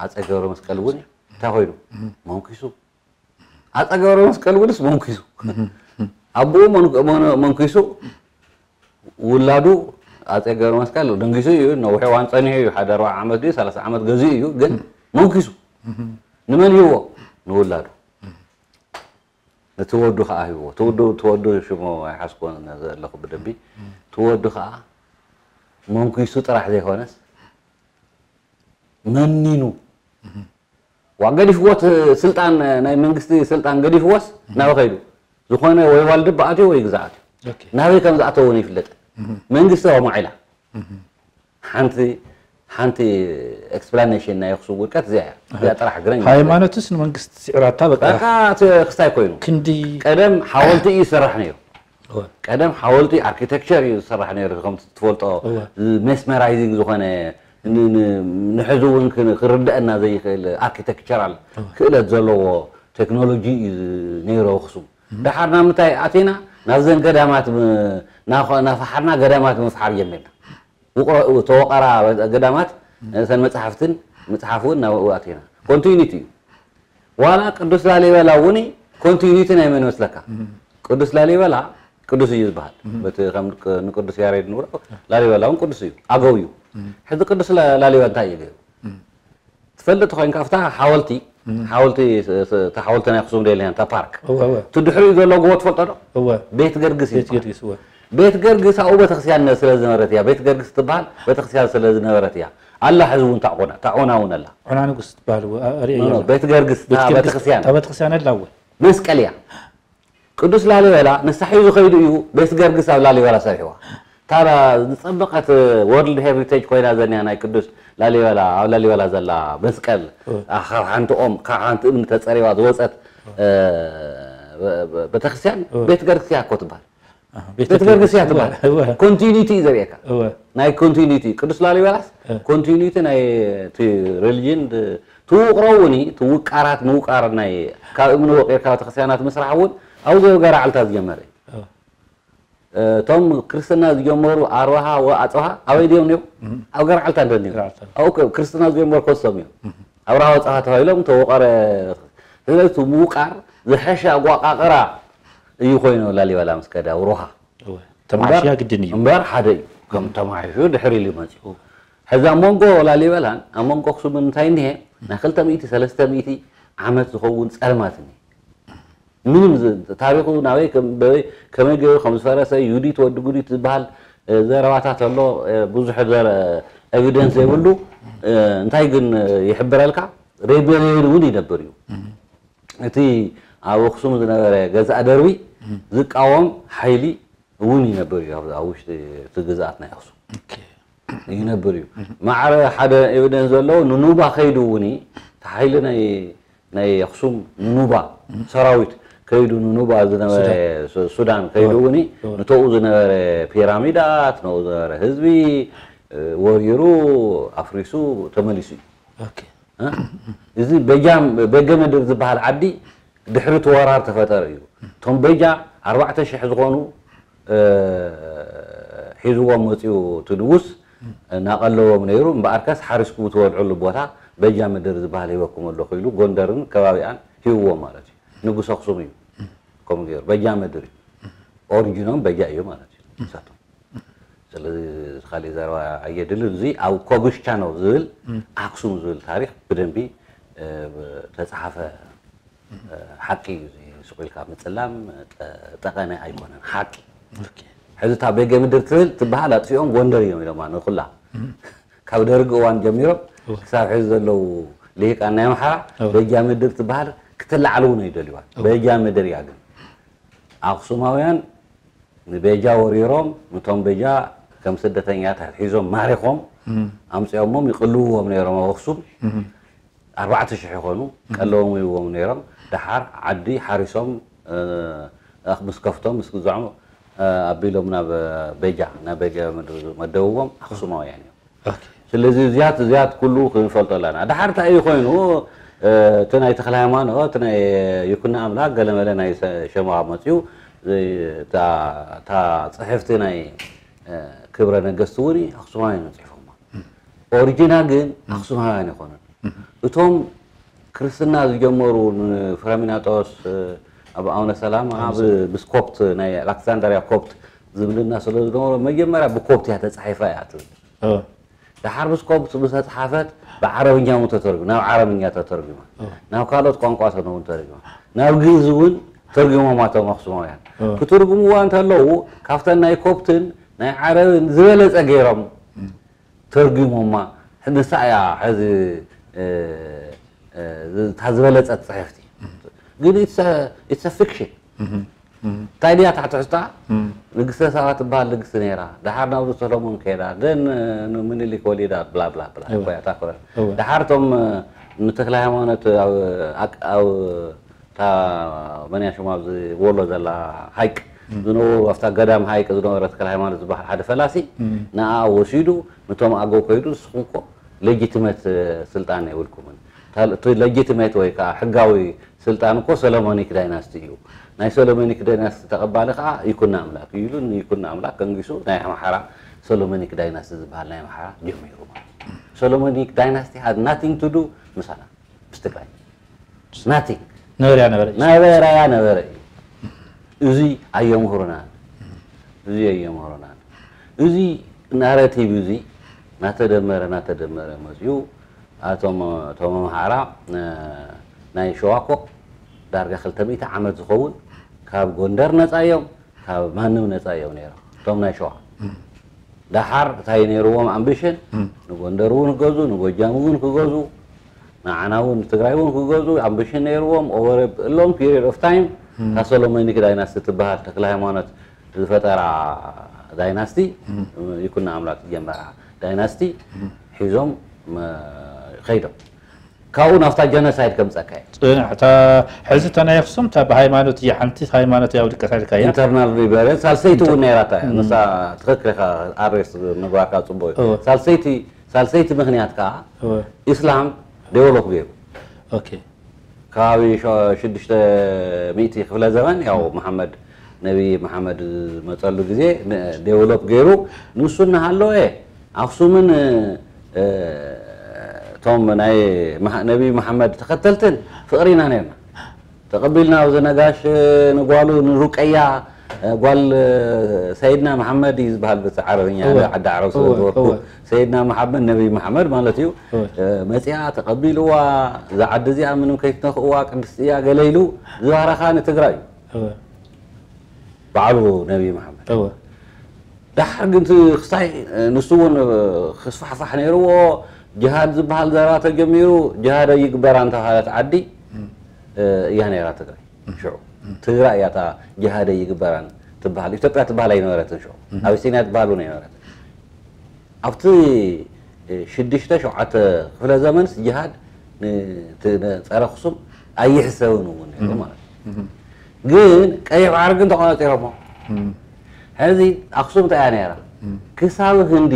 ኣፀ ገብረ መስቀል እውን እንታይ ኮይኑ? መንኪሱ። ኣፀ ገብረ መስቀል እውንስ መንኪሱ። ኣቦኡ መንኪሱ፣ ውላዱ ኣፀ ገብረ መስቀል ደንጊሱ እዩ። ነዊሕ እዋን ፀኒሑ እዩ። ሓደ ኣርባዓ ዓመት ድዩ ሰላሳ ዓመት ገዚኡ እዩ። ግን መንኪሱ ንመን ሂብዎ? ንውላዱ። ነቲ ወዱ ከዓ ሂብዎ። ትወዱ ትወዱ ሽሙ ኣይሓዝኮን ዘለኹ ብደንቢ። ትወዱ ከዓ መንኪሱ ጥራሕ ዘይኮነስ መኒኑ ዋ ገዲፍዎ፣ ስልጣን ናይ መንግስቲ ስልጣን ገዲፍዎስ ናበ ከይዱ? ዝኾነ ወይ ዋልድባ ኣትዩ ወይ ግዛዕ ኣትዩ። ናበይ ከም ዝኣተወ እውን ይፍለጥ። መንግስቲ ኣማዒላ። ሓንቲ ሓንቲ ኤክስፕላኔሽን ናይ ኣኽሱም ውድቀት እዚኣ እያ። እዚኣ ጥራሕ ግረኝ። ሃይማኖትስ ንመንግስቲ ስዒራታ በቃ። በቃ እቲ ክስታይ ኮይኑ። ክንዲ ቀደም ሓወልቲ እዩ ዝስራሕ ነይሩ። ቀደም ሓወልቲ ኣርኪቴክቸር እዩ ዝስራሕ ነይሩ። ከም ትፈልጦ ሜስመራይዚንግ ዝኾነ ንሕዚ እውን ክርደአና ዘይኽእል ኣርኪቴክቸራል ክእለት ዘለዎ ቴክኖሎጂ እዩ ነይሩ ኣኽሱም። ደሓር ናብ ምንታይ ኣቲና? ናብዘን ገዳማት ናፈሓርና ገዳማት ምፍሓር ጀሚርና። ተወቀራ ገዳማት ሰን መፅሓፍትን ምፅሓፍ እውን ናብኡ ኣቲና። ኮንቲኒቲ እዩ። ዋላ ቅዱስ ላሊበላ እውን ኮንቲኒቲ ናይ መን መስለካ? ቅዱስ ላሊበላ ቅዱስ እዩ ዝበሃል። በቲ ከም ንቅዱስ ያሬድ ንብሎ ላሊበላ እውን ቅዱስ እዩ። ኣገው እዩ። ሕዚ ቅዱስ ላ- ላሊበላ እንታይ እዩ ገይሩ? ትፈልጥ ኮይንካ ኣብታ ሓወልቲ ሓወልቲ ስ- ስ- እታ ሓወልቲ ናይ ኣክሱም ደልያን እታ ፓርክ እወ እወ እቲ ድሕሪኡ ዘሎ ጎቦ ትፈልጦ ዶ? እወ ቤት ገርግስ ቤት ይበሃል። ገርግስ እወ ቤት ገርግስ ኣብኡ ቤተክርስትያን ስለ ዝነበረት እያ። ቤት ገርግስ ትበሃል ቤተክርስትያን ስለ ዝነበረት እያ። ኣላ ሕዚ እውን ታዕቆና ታዕቆና እውን ኣላ። ዑና ንጉስ ትበሃል እወ አ- ርእየ ኖ፣ ኖ፣ የላ። ቤት ገርግስ ቤት እታ ገርግስ ቤተክርስትያን እታ ቤተክርስትያን ኣላ እወ መስቀል እያ። ቅዱስ ላሊበላ ንሳ ሒዙ ከይዱ እዩ ቤት ገርግስ ኣብ ላሊበላ ሰሪሕዋ። እታ ዝጸበቐት ወርልድ ሄሪቴጅ ኮይና ዘኒያ ናይ ቅዱስ ላሊበላ ኣብ ላሊበላ ዘላ መስቀል እወ። ኣ- ካብ ሓንቲ ኦም ካብ ሓንቲ እምኒ ተጸሪባ ዝወጸት እ፣ በ- በ- ቤተክርስትያን እወ። ቤት ገርግስ እያ እኮ ትበሃል። ኣህ፣ ቤት ቤት ገርግስ እያ እወ ትበሃል። እወ ኮንቲኒቲ እዩ ዘርእየካ። እወ ናይ ኮንቲኒቲ ቅዱስ ላሊበላስ እ። ኮንቲኒቲ ናይ እቲ ሪሊጅን ድ- ትውቅሮ እውን እዩ፣ ትውቃራት ምውቃር ናይ ካብ እምኒ ወቂርካ ቤተክርስትያናት ምስራሕ እውን ኣብዚ ገራዕልታ ዝጀመረ እዩ። እወ እቶም ክርስትና ዝጀመሩ ኣርባሃ ወኣፅብሃ ኣበይ ድዮም ነይሩ? ኣብ ገርዓልታ እንደ ነይሩ ገርዓልታ። ኣብኡ ከ- ክርስትና ዝጀመሩ ከሶም እዮም። ኣብርሃ ወፅሃ ተባሂሎም ተወቀረ። ስለዚ እቲ ምውቃር ዝሐሸ ኣቋቃቅራ እዩ ኮይኑ ላሊበላ ምስ ከደ ኣብ ሮሃ እወ ተማሕሽያ ግድን እዩ እምበር ሓደ እዩ። ከም ተማሒሹ ድሕሪ ኢሉ መፅኡ። ሕዚ ኣብ መንጎ ላሊበላን ኣብ መንጎ ኣክሱምን እንታይ እኒሀ? ናይ ክልተ ሚእቲ ሰለስተ ሚእቲ ዓመት ዝኸውን ፀልማት እኒሀ። ምንም ዝ- ታሪኹ ናበይ ከም- በበይ- ከመይ ገይሩ ከም ዝፈረሰ ዩዲት ወዲ ጉዲት ዝበሃል እ፣ ዘረባታት ኣሎ። እ፣ ብዙሕ ዘረ- ኤቪደንስ ዘይብሉ እ፣ እንታይ ግን እ፣ ይሕብረልካ ሬቤልዮን እውን ይነብር እዩ። እቲ ኣብ ኣክሱም ዝነበረ ገዛእ ደርቢ ዝቃወም ሓይሊ እውን ይነብር እዩ ኣብ ኣብ ውሽጢ እቲ ግዝኣት ናይ ኣክሱም ይነብር እዩ። ማዕረ ሓደ ኤቪደንስ ዘለዎ ንኑባ ከይዱ እውን እዩ። እቲ ሓይሊ ናይ ናይ ኣክሱም ንኑባ ሰራዊት ከይዱ ንኑባ ዝነበረ ሱ- ሱዳን ከይዱ እውን እዩ። ንተኡ ዝነበረ ፒራሚዳት ነኡ ዝነበረ ህዝቢ እ፣ ወሪሩ ኣፍሪሱ ተመሊሱ እዩ። ኦኬ እ? እዚ በጃ በገ ምድር ዝበሃል ዓዲ ድሕሪ እቲ ወራር ተፈጠረ እዩ። እቶም በጃ ኣርባዕተ ሽሕ ዝኾኑ እ፣ ሒዝዎም መፅኡ እቲ ንጉስ እናቐለቦም ነይሩ። እምበኣርከስ ሓሪስኩም ትበልዕሉ ቦታ በጃ ምድር ዝበሃል ሂበኩም ኣለኹ ኢሉ ጎንደርን ከባቢኣን ሂብዎም ማለት እዩ። ንጉስ ኣክሱም እዩ ከምኡ ገይሩ በጃ ምድር እዩ። ኦሪጂኖም በጃ እዩ ማለት እዩ ንሳቶም። ስለዚ ካልእ ዘረባ ኣየድልን። እዚ ኣብ ኮጉሽ ቻነል ዝብል ኣክሱም ዝብል ታሪክ ብደንቢ እ፣ ተፃሓፈ እ፣ ሓቂ እዩ። እዚ ስቕ ኢልካ ምፅላም ጠ- ጠቐነ ኣይኮነን ሓቂ። ሕዚ እታ ቤገ ምድር ትብል ትበሃል ኣጥፊኦም ጎንደር እዮም ኢሎማ ንኩላ ካብ ደርጊ እዋን ጀሚሮም ክሳብ ሕዚ ዘለዉ ልሂቃን ናይ ኣምሓራ በጃ ምድር ትበሃል ክትለዓል እውን ኣይደልዩዋን። በጃ ምድር እያ ግን ኣክሱማውያን ንቤጃ ወሪሮም ንቶም ቤጃ ከም ስደተኛታት ሒዞም ማሪኾም ኣምፂኦሞም ይቅልውዎም ነይሮም ኣብ ኣክሱም ኣርባዕተ ሽሕ ይኾኑ ቀለዎም ይዎም ነይሮም። ደሓር ዓዲ ሓሪሶም እ፣ ምስ ከፍቶም ምስ ግዝዖም እ፣ ኣቢሎም ናብ ቤጃ ናብ ቤጃ መደብዎም ኣክሱማውያን እዮም። ስለዚ እዚያት እዚያት ኩሉ ክንፈልጦ ኣለና። ደሓር እንታይ እዩ ኮይኑ እቲ ናይ ተክለ ሃይማኖት ናይ ይኩኖ ኣምላክ ገለመለ ናይ ሸማ መፅኡ እታ ፅሕፍቲ ናይ ክብረ ነገስቲ እውን ኣክሱማውያን ፅሒፎማ። ኦሪጂና ግን ኣክሱማውያን ኣይኮኑን። እቶም ክርስትና ዝጀመሩ ንፍረሚናጦስ ኣብ ኣቡነ ሰላማ ብስኮፕት ናይ ኣሌክሳንደርያ ኮፕት ዝምድና ስለ ዝነበሮ መጀመርያ ብኮፕት እያ ተፃሒፋ እያ ትብል። ደሓር ብስኮፕት ዝተፅሓፈት ብዓረብኛ እውን ተተርጉ ናብ ዓረብኛ ተተርጉማ ናብ ካልኦት ቋንቋታት እውን ተርጉማ ናብ ግእዝ እውን ተርጉሞማ እቶም ኣክሱማውያን ክትርጉምዋ እንተለዉ ካብተን ናይ ኮፕትን ናይ ዓረብን ዝበለፀ ገይሮም ተርጉሞማ። ንሳ እያ ሕዚ እታ ዝበለፀት ፅሕፍቲ ግን it's a fiction እንታይ ድያ እታ ትሕዝታ? ንግስተ ሳባ ትበሃል ንግስቲ ነይራ። ደሓር ናብ ሰሎሞን ከይዳ ደን ምኒልክ ወሊዳ ብላ ብላ ብላ እኮ እያ እታ ክብረት። ደሓር እቶም ንተክለ ሃይማኖት ኣብ እታ መን እያ ሽማ ኣብዚ ወሎ ዘላ ሃይቅ ዝነበሩ ኣብታ ገዳም ሃይቅ ዝነበረ ተክለ ሃይማኖት ዝበሃል ሓደ ፈላሲ ንኣ ወሲዱ ነቶም ኣገው ከይዱ ንስኹም እኮ ሌጂቲመት ስልጣን የብልኩምን። እቲ ሌጂቲመት ወይ ከዓ ሕጋዊ ስልጣን እኮ ሰሎሞኒክ ዳይናስቲ እዩ። ናይ ሰሎሞኒክ ዳይናስቲ ተቐባሊ ከዓ ይኩኖ ኣምላክ እዩ ኢሉ ንይኩኖ ኣምላክ ከንጊሱ ናይ ኣምሓራ ሰሎሞኒክ ዳይናስቲ ዝበሃል ናይ ኣምሓራ ጀሚሩ ማለት እዩ። ሰሎሞኒክ ዳይናስቲ had nothing to do ምሳና ምስ ትግራይ nothing ነበረ ነበረ ነበረ ያ ነበረ እዩ። እዚ ኣየምህሩናን እዚ ኣየምህሩናን እዚ ናራቲቭ እዚ ናተደመረ ናተደመረ መፅኡ። ኣቶም እቶም ኣምሓራ ናይ ሸዋ እኮ ዳርጋ ክልተ ሚእቲ ዓመት ዝኸውን ካብ ጎንደር ነፃ እዮም፣ ካብ ማንም ነፃ እዮም ነይሮም እቶም ናይ ሸዋ። ደሓር እንታይ ነይርዎም ኣምቢሽን? ንጎንደር እውን ክገዙ፣ ንጎጃም እውን ክገዙ፣ ንዓና እውን ንትግራይ እውን ክገዙ ኣምቢሽን ነይርዎም። ኦቨር ሎንግ ፒሪድ ኦፍ ታይም እታ ሶሎሞኒክ ዳይናስቲ ትበሃል ተክለ ሃይማኖት ዝፈጠራ ዳይናስቲ፣ ይኩኖ ኣምላክ ዝጀመራ ዳይናስቲ ሒዞም ከይዶም። ካብኡ ናብታ ጀኖሳይድ ከምፀካ እዩ። ፅንሕ እታ ሕዚ እታ ናይ ኣክሱም እታ ብሃይማኖት እያ ሓንቲ ሃይማኖት እያ ውድቀት ኣልካ እያ። ኢንተርናል ሪቨረንስ ሳልሰይቲ እውን ነይራታ እያ። ንሳ ትኽክል ኢኻ። ኣሬስ ምግባርካ ፅቡቅ እዩ። ሳልሰይቲ ሳልሰይቲ ምክንያት ከዓ ኢስላም ዴቨሎፕ ገይሩ ከባቢ ሽዱሽተ ሚእቲ ክፍለ ዘመን ያው መሓመድ ነቢ መሓመድ ዝመፀሉ ግዜ ዴቨሎፕ ገይሩ ንሱ እናሃለወ ኣክሱምን እቶም ናይ ነቢ መሓመድ ተኸተልትን ፍቕሪ ኢና ነርና። ተቐቢልና ኣብዚ ነጋሽ ንጓሉ ንሩቀያ ጓል ሰይድና መሓመድ እዩ ዝበሃል በቲ ዓረብኛ ዓዲ ዓረብ ስለ ዝበርኩ ሰይድና መሓመድ ነቢ መሓመድ ማለት እዩ። መፅያ ተቐቢልዋ እዛ ዓዲ እዚኣ ምንም ከይትነኽእዋ ቅድስቲ እያ ገለ ኢሉ ዝባረኻ ንትግራይ እዩ ባዕሉ ነቢ መሓመድ። ዳሕር ግን ክስታይ ንሱ እውን ክስፋሕፋሕ ነይርዎ። ጅሃድ ዝበሃል ዘረባ ተጀሚሩ ጅሃድ ኣይግበራን ተባሃለት ዓዲ እያ ነይራ ትግራይ። ሽዑ ትግራይ እያ እታ ጅሃድ ኣይግበራን ትበሃል። ኢትዮጵያ ትበሃል ኣይነበረትን ሽዑ። ኣቢሲንያ ትበሃል እውን ኣይነበረትን። ኣብቲ ሽዱሽተ ሸውዓተ ክፍለ ዘመንስ ጅሃድ ጸረ ኣኽሱም ኣይሕሰብን እውን ነይሩ ማለት እዩ። ግን ቀይሕ ባሕሪ ግን ተቆጻጺሮሞ። ሕዚ ኣኽሱም እንታይ እያ ነይራ? ክሳብ ህንዲ፣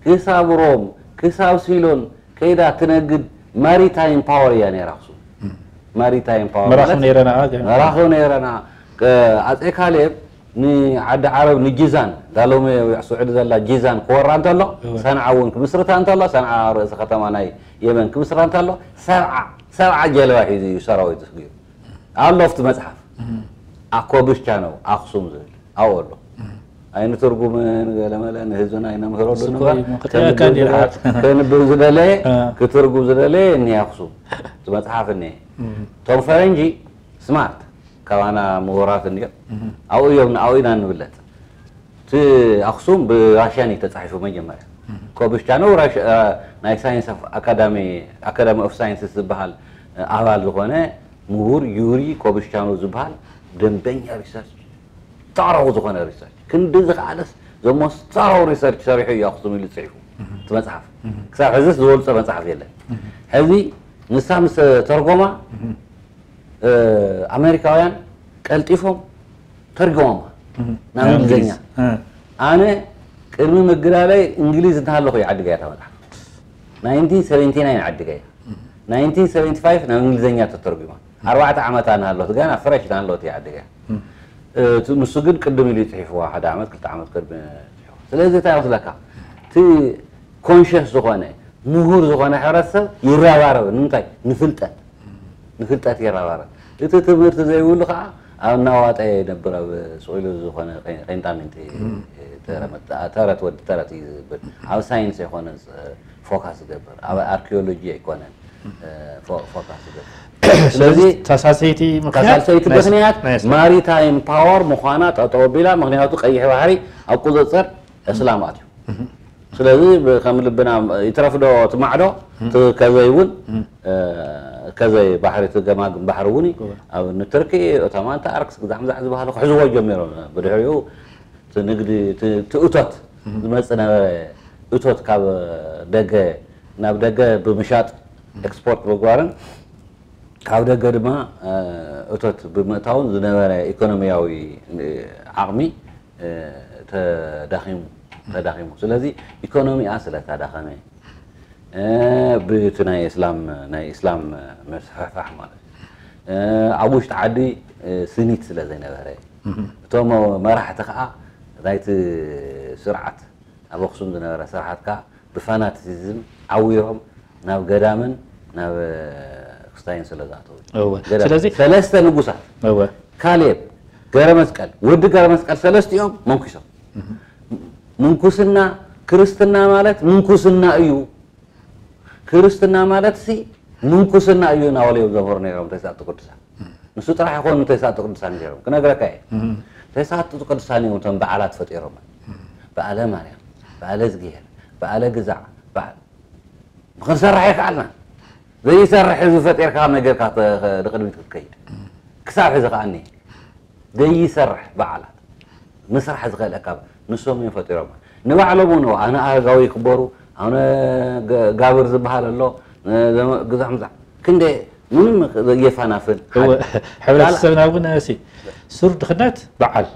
ክሳብ ሮም፣ ክሳብ ሲሎን ከይዳ ትነግድ ማሪታይም ፓወር እያ ነይራ ኣኽሱም። ማሪታይም ፓወር መራኽብ ማለት ነይረና፣ ገና። መራኽብ ነይረና። ኣጼ ካሌብ ንዓዲ ዓረብ ንጂዛን ዳሎመ ስዑዲ ዘላ ጂዛን ክወራ እንተሎ እወ። ሰንዓ እውን ክምስርታ እንተሎ ሰንዓ ርእሲ ከተማ ናይ የመን ክምስርታ እንተሎ ሰብዓ ሰብዓ ጀልባ ሒዙ እዩ ሰራዊት ስጊሩ ኣሎ ኣብቲ መፅሓፍ ኣኮብሽቻ ነው ኣክሱም ዝብል ኣብኡ ኣሎ ኣይንትርጉምን ገለመለ ንህዝብና ኣይነምህረሉ እኮ እምበር እዩ፣ ከንብብ ዝደለየ ክትርጉም ዝደለየ እኒሄ ኣክሱም እቲ መፅሓፍ እኒሄ እቶም ፈረንጂ ስማርት ካባና ምሁራት እንድዮም ኣብኡ እዮም ንኣብኡ ኢና ንብለጥ እቲ ኣክሱም ብራሽያን እዩ ተፃሒፉ መጀመርያ ኮብሽቻኖ ናይ ሳይንስ ኣካዳሚ ኣካዳሚ ኦፍ ሳይንስስ ዝበሃል ኣባል ዝኾነ ምሁር ዩሪ ኮብሽቻኖ ዝበሃል ደንበኛ ሪሰርች ተዕረቑ ዝኾነ ሪሰርች ክንዲ ዝኸኣለስ ዘሞስ ተዕረቑ ሪሰርች ሰሪሑ እዩ ኣክሱም ኢሉ ፅሒፉ እቲ መፅሓፍ ክሳብ ሕዝስ ዝወልፀ መፅሓፍ የለን ሕዚ ንሳ ምስ ተርጎማ ኣሜሪካውያን ቀልጢፎም ተርጎሞማ ናብ እንግሊዝኛ ኣነ ቅድሚ ምግዳለይ እንግሊዝ እንተሃለኹ እዩ ዓዲጋ እያ መፅሓፍ ናይንቲን ሰቨንቲ ናይን ዓዲጋ እያ ናይንቲን ሰቨንቲ ፋይቭ ናብ እንግሊዝኛ ተተርጉማ ኣርባዕተ ዓመታ እናሃለኹ ገና ፍረሽ እናሃለኹ እያ ዓዲጋ እያ ንሱ ግን ቅድም ኢሉ ይፅሒፍዋ ሓደ ዓመት ክልተ ዓመት ቅድሚ ስለዚ እንታይ ይመስለካ እቲ ኮንሽስ ዝኾነ ምሁር ዝኾነ ሕብረተሰብ ይረባረብ ንምንታይ ንፍልጠት ንፍልጠት ይረባረብ እቲ ትምህርቲ ዘይብሉ ከዓ ኣብ እናዋጠ ይነብር ኣብ ስኢሉ ዝኾነ ቄንጣሚንቲ ተረት ወዲ ተረት እዩ ዝብል ኣብ ሳይንስ ኣይኮነ ፎካስ ዝገብር ኣብ ኣርኪኦሎጂ ኣይኮነን ፎካስ ዝገብር ስለዚ ተሳሰይቲ ምክንያት ተሳሰይቲ ምክንያት ማሪታይም ፓወር ምኳና ጠጠው ቢላ ምክንያቱ ቀይሕ ባሕሪ ኣብ ቁፅፅር እስላም ኣትዩ ስለዚ ከም ልብና ይትረፍ ዶ ትማዕዶ ከዘይ እውን ከዘይ ባሕሪ እቲ ገማግም ባሕሪ እውን ኣብ ንትርኪ እቶም ኣንታርክስ ግዛዕ ምዛዕ ዝበሃሉ ክሕዝዎ ጀሚሮም ብድሕሪኡ ንግዲ ትእቶት ዝመፅእ ነበረ እቶት ካብ ደገ ናብ ደገ ብምሻጥ ኤክስፖርት ምግባርን ካብ ደገ ድማ እቶት ብምእታውን ዝነበረ ኢኮኖሚያዊ ዓቕሚ ተዳኺሙ ተዳኺሙ ስለዚ ኢኮኖሚኣ ስለ ተዳኸመ ብቲ ናይ እስላም ናይ እስላም መስፋሕፋሕ ማለት እዩ ኣብ ውሽጢ ዓዲ ስኒት ስለ ዘይነበረ እቶም መራሕቲ ከዓ ናይቲ ስርዓት ኣብ ኣክሱም ዝነበረ ስርዓት ከዓ ብፋናቲሲዝም ዓዊሮም ናብ ገዳምን ናብ ክስታይን ስለ ዝኣተዉ እወ። ገዳም- ስለዚ- ሰለስተ ንጉሳት እወ። ካሌብ ገረመስቀል ወዲ ገረመስቀል ሰለስቲኦም መንኩሶም ምንኩስና ክርስትና ማለት ምንኩስና እዩ። ክርስትና ማለት ሲ ምንኩስና እዩ እናበሉ እዮም ዘምህሩ ነይሮም ተስዓቱ ቅዱሳን። ንሱ ጥራሕ ይኾኑ ተስዓቱ ቅዱሳን ነይሮም። ክነግረካ እየ። ተስዓቱ ቅዱሳን እዮም እቶም በዓላት ፈጢሮም። በዓለ ማርያም፣ በዓለ እዝግሄር፣ በዓለ ግዛዕ፣ በዓል ክንሰርሕ ይከኣልና። ዘይሰርሕ ህዝቢ ፈጢርካ ከመይ ጌርካ ተ-፣ ንቕድሚት ክትከይድ? ክሳብ ሕዚ ከኣ እኒሀ። ዘይሰርሕ በዓላት ምስራሕ ዝኽእለካ ንሶም እዮም ፈጢሮም። ንባዕሎም እውን ኣነ ኣረጋዊ ይክበሩ፣ ኣነ ገ-፣ ጋብር ዝበሃል ኣሎ፣ ነ-፣ ዘመ-፣ ግዛዕ ምዛዕ። ክንደይ ምንም የፋናፍን። እወ፣ ሕብረተሰብና እውን ሲ ሱር ድኽነት በዓል፣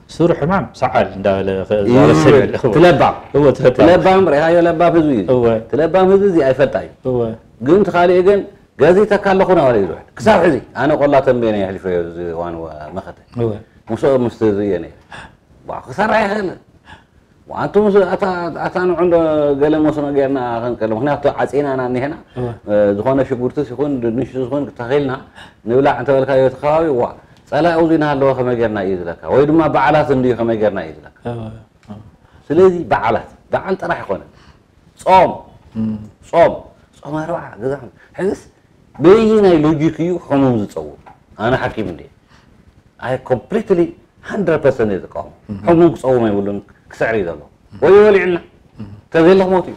ሱር ሕማም ሰዓል እንዳበለ ኸ-፣ ይብል። ዛበሰለ። እወ። ትለባም። እወ፣ ትለባም። ትለባም ርኢኻዮ፣ ለባም ህዝቢ እዩ። እወ። ትለባም ህዝቢ እዚ ኣይፈልጣ እዩ። እወ። ግን እቲ ካሊእ ግን ገዚተካ ኣለኹ ናበለ እዩ ዝውዕል። ክሳብ ሕዚ ኣነ ቆላ ተንቤን እየ ኣሕሊፈዮ እዚ እዋን ወ-፣ መኸተ። እወ። ምስኦም ምስቲ እዚ እየ ነይረ። ዋ፣ ክሰርሕ ኣይኽእልን። ዋ፣ ኣንቱም ስ-፣ ኣታ፣ ኣታ ንዑ እንዶ ገለ መስኖ ጌርና ክንቀል። ምኽንያቱ ዓጺናና እኒሄና። እወ። እ፣ ዝኾነ ሽጉርትስ ይኹን ድንሽ ይኹን ተኺልና ንብላዕ እንተበልካዮ እቲ ከባቢ፣ ዋ፣ ጸላኢ ኣብዚ እናሃለወ ከመይ ጌርና እዩ ዝለካ? ወይ ድማ በዓላት እንድዩ ከመይ ጌርና እዩ ዝለካ? እወ። እወ። ስለዚ በዓላት፣ በዓል ጥራሕ ኣይኮነን። ጾም፣ እም። ጾም፣ ጾም ኣርብዓ፣ ገዛ ሕዝስ በየናይ ሎጂክ እዩ ሕሙም ዝጸውም? ኣነ ሓኪም እንደ ኣይ ኮምፕሊትሊ ሃንድረድ ፐርሰንት እየ ዝቃወም። እም። ሕሙም ክጸውም የብሉን፣ ክስዕር እዩ ዘለዎ። ወይ ይበልዕልና፣ እም። ተዘይለ ክሞት እዩ።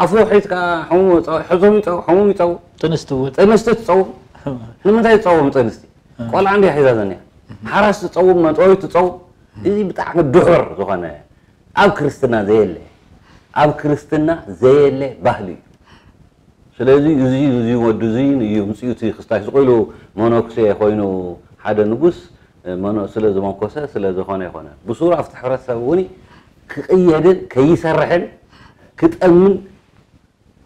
ኣፉ ሒዝካ ሕሙም ይጸው-፣ ሕዙም ይጸው-፣ ሕሙም ይጸውም። ጥንስቲ እውን። ጥንስቲ ትጸውም። ንምንታይ ትጸውም ጥንስቲ? እም። ቆልዓ እንድያ ሒዛ ዘኒያ። እም። ሓራስ ትጸውም፣ መጥወይ ትጸውም። እዚ ብጣዕሚ ድሑር ዝኾነ ኣብ ክርስትና ዘየለ፣ ኣብ ክርስትና ዘየለ ባህሊ እዩ። ስለዚ እዚ፣ እዚ ወዲ እዚ እዩ ምጽኡ እቲ ክስታይ ስቕ ኢሉ መነኩሴ ኮይኑ ሓደ ንጉስ፣ መነ-፣ ስለ ዝመንኮሰ ስለ ዝኾነ ይኾነ። ብሱሩ ኣብቲ ሕብረተሰብ እውን ክቕየድን ከይሰርሕን ክጠምን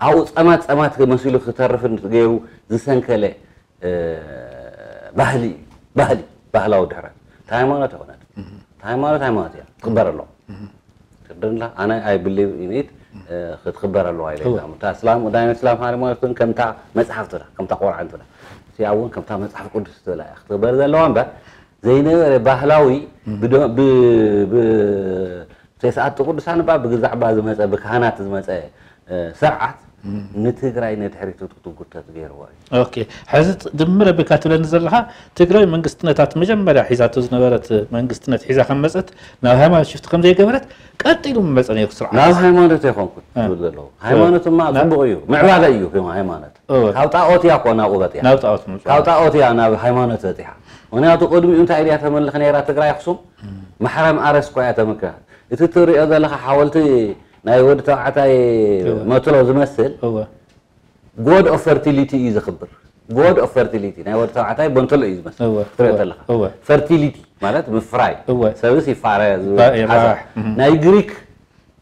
ኣብኡ ጸማት ጸማት መሲሉ ክተርፍን ገይሩ ዝሰንከለ እ፣ ባህሊ እዩ። ባህሊ፣ ባህላዊ ድሕረት። እታ ሃይማኖት ኣይኮነትን። እህ። እታ ሃይማኖት፣ ሃይማኖት እያ። ትኽበር ኣለዋ። እህ። ትኽበር ኣላ። ኣነ I believe in it፣ እህ። እ፣ ክትኽበር ኣለዋ ኢለ እወ። ይዛም። እታ እስላም፣ ናይ እስላም ሃይማኖት እውን ከምታ መጽሓፍ ትብላ፣ ከምታ ቁርኣን ትብላ። እቲኣ እውን ከምታ መጽሓፍ ቅዱስ ትብላ እያ። ክትኽበር ዘለዋ እምበር፣ ዘይነበረ ባህላዊ እህ። ብዶ-፣ ብ-፣ ብ-፣ ተስዓቱ ቅዱሳን እባ ብግዛዕ እባ ዝመጸ፣ ብካህናት ዝመጸ፣ እ፣ ስርዓት እም። ንትግራይ ንድሕሪት ክትጉተት ገይርዋ እዩ። ኦኬ። ሕዚ ት-፣ ድምር ኣቢልካ ትብለኒ ዘለኻ፣ ትግራይ መንግስትነታት መጀመርያ ሒዛቶ ዝነበረት መንግስትነት ሒዛ ከም መጸት፣ ናብ ሃይማኖት ሽፍቲ ከም ዘይገበረት፣ ቀጢሉ መጸ ነይሩ ስርዓት። ናብ ሃይማኖት ኣይኮንኩን እ። ዝብል ዘለኹ። እ። ሃይማኖትማ ናብ ጽቡቕ እዩ፣ ምዕባለ እዩ ሃይማኖት። እወ። ካብ ጣኦት እያ እኮ ናብኡ በጺሓ። ናብ ጣኦት ምምጻእ። ካብ ጣኦት እያ ናብ ሃይማኖት በጺሓ። ምኽንያቱ ቅድሚኡ እንታይ ድያ ተመልኽ ነይራ ትግራይ ኣኽሱም? እም። ማሕረም ኣረስ እኮ እያ ተምልኽ። እቲ ትሪኦ ዘለኻ ሓወልቲ ናይ ወዲ ተባዕታይ እወ። መትሎ ዝመስል እወ። God of fertility እዩ ዘኽብር። God of fertility ናይ ወዲ ተባዕታይ ቦንተሎ እዩ ዝመስል። እወ፣ ክትሪኦ እወ፣ ተለኻ። እወ። ፈርቲሊቲ ማለት ምፍራይ። እወ። ሰብስ ይፋረ ባ-፣ ይራባሕ። ሓሳብ። እም። ናይ ግሪክ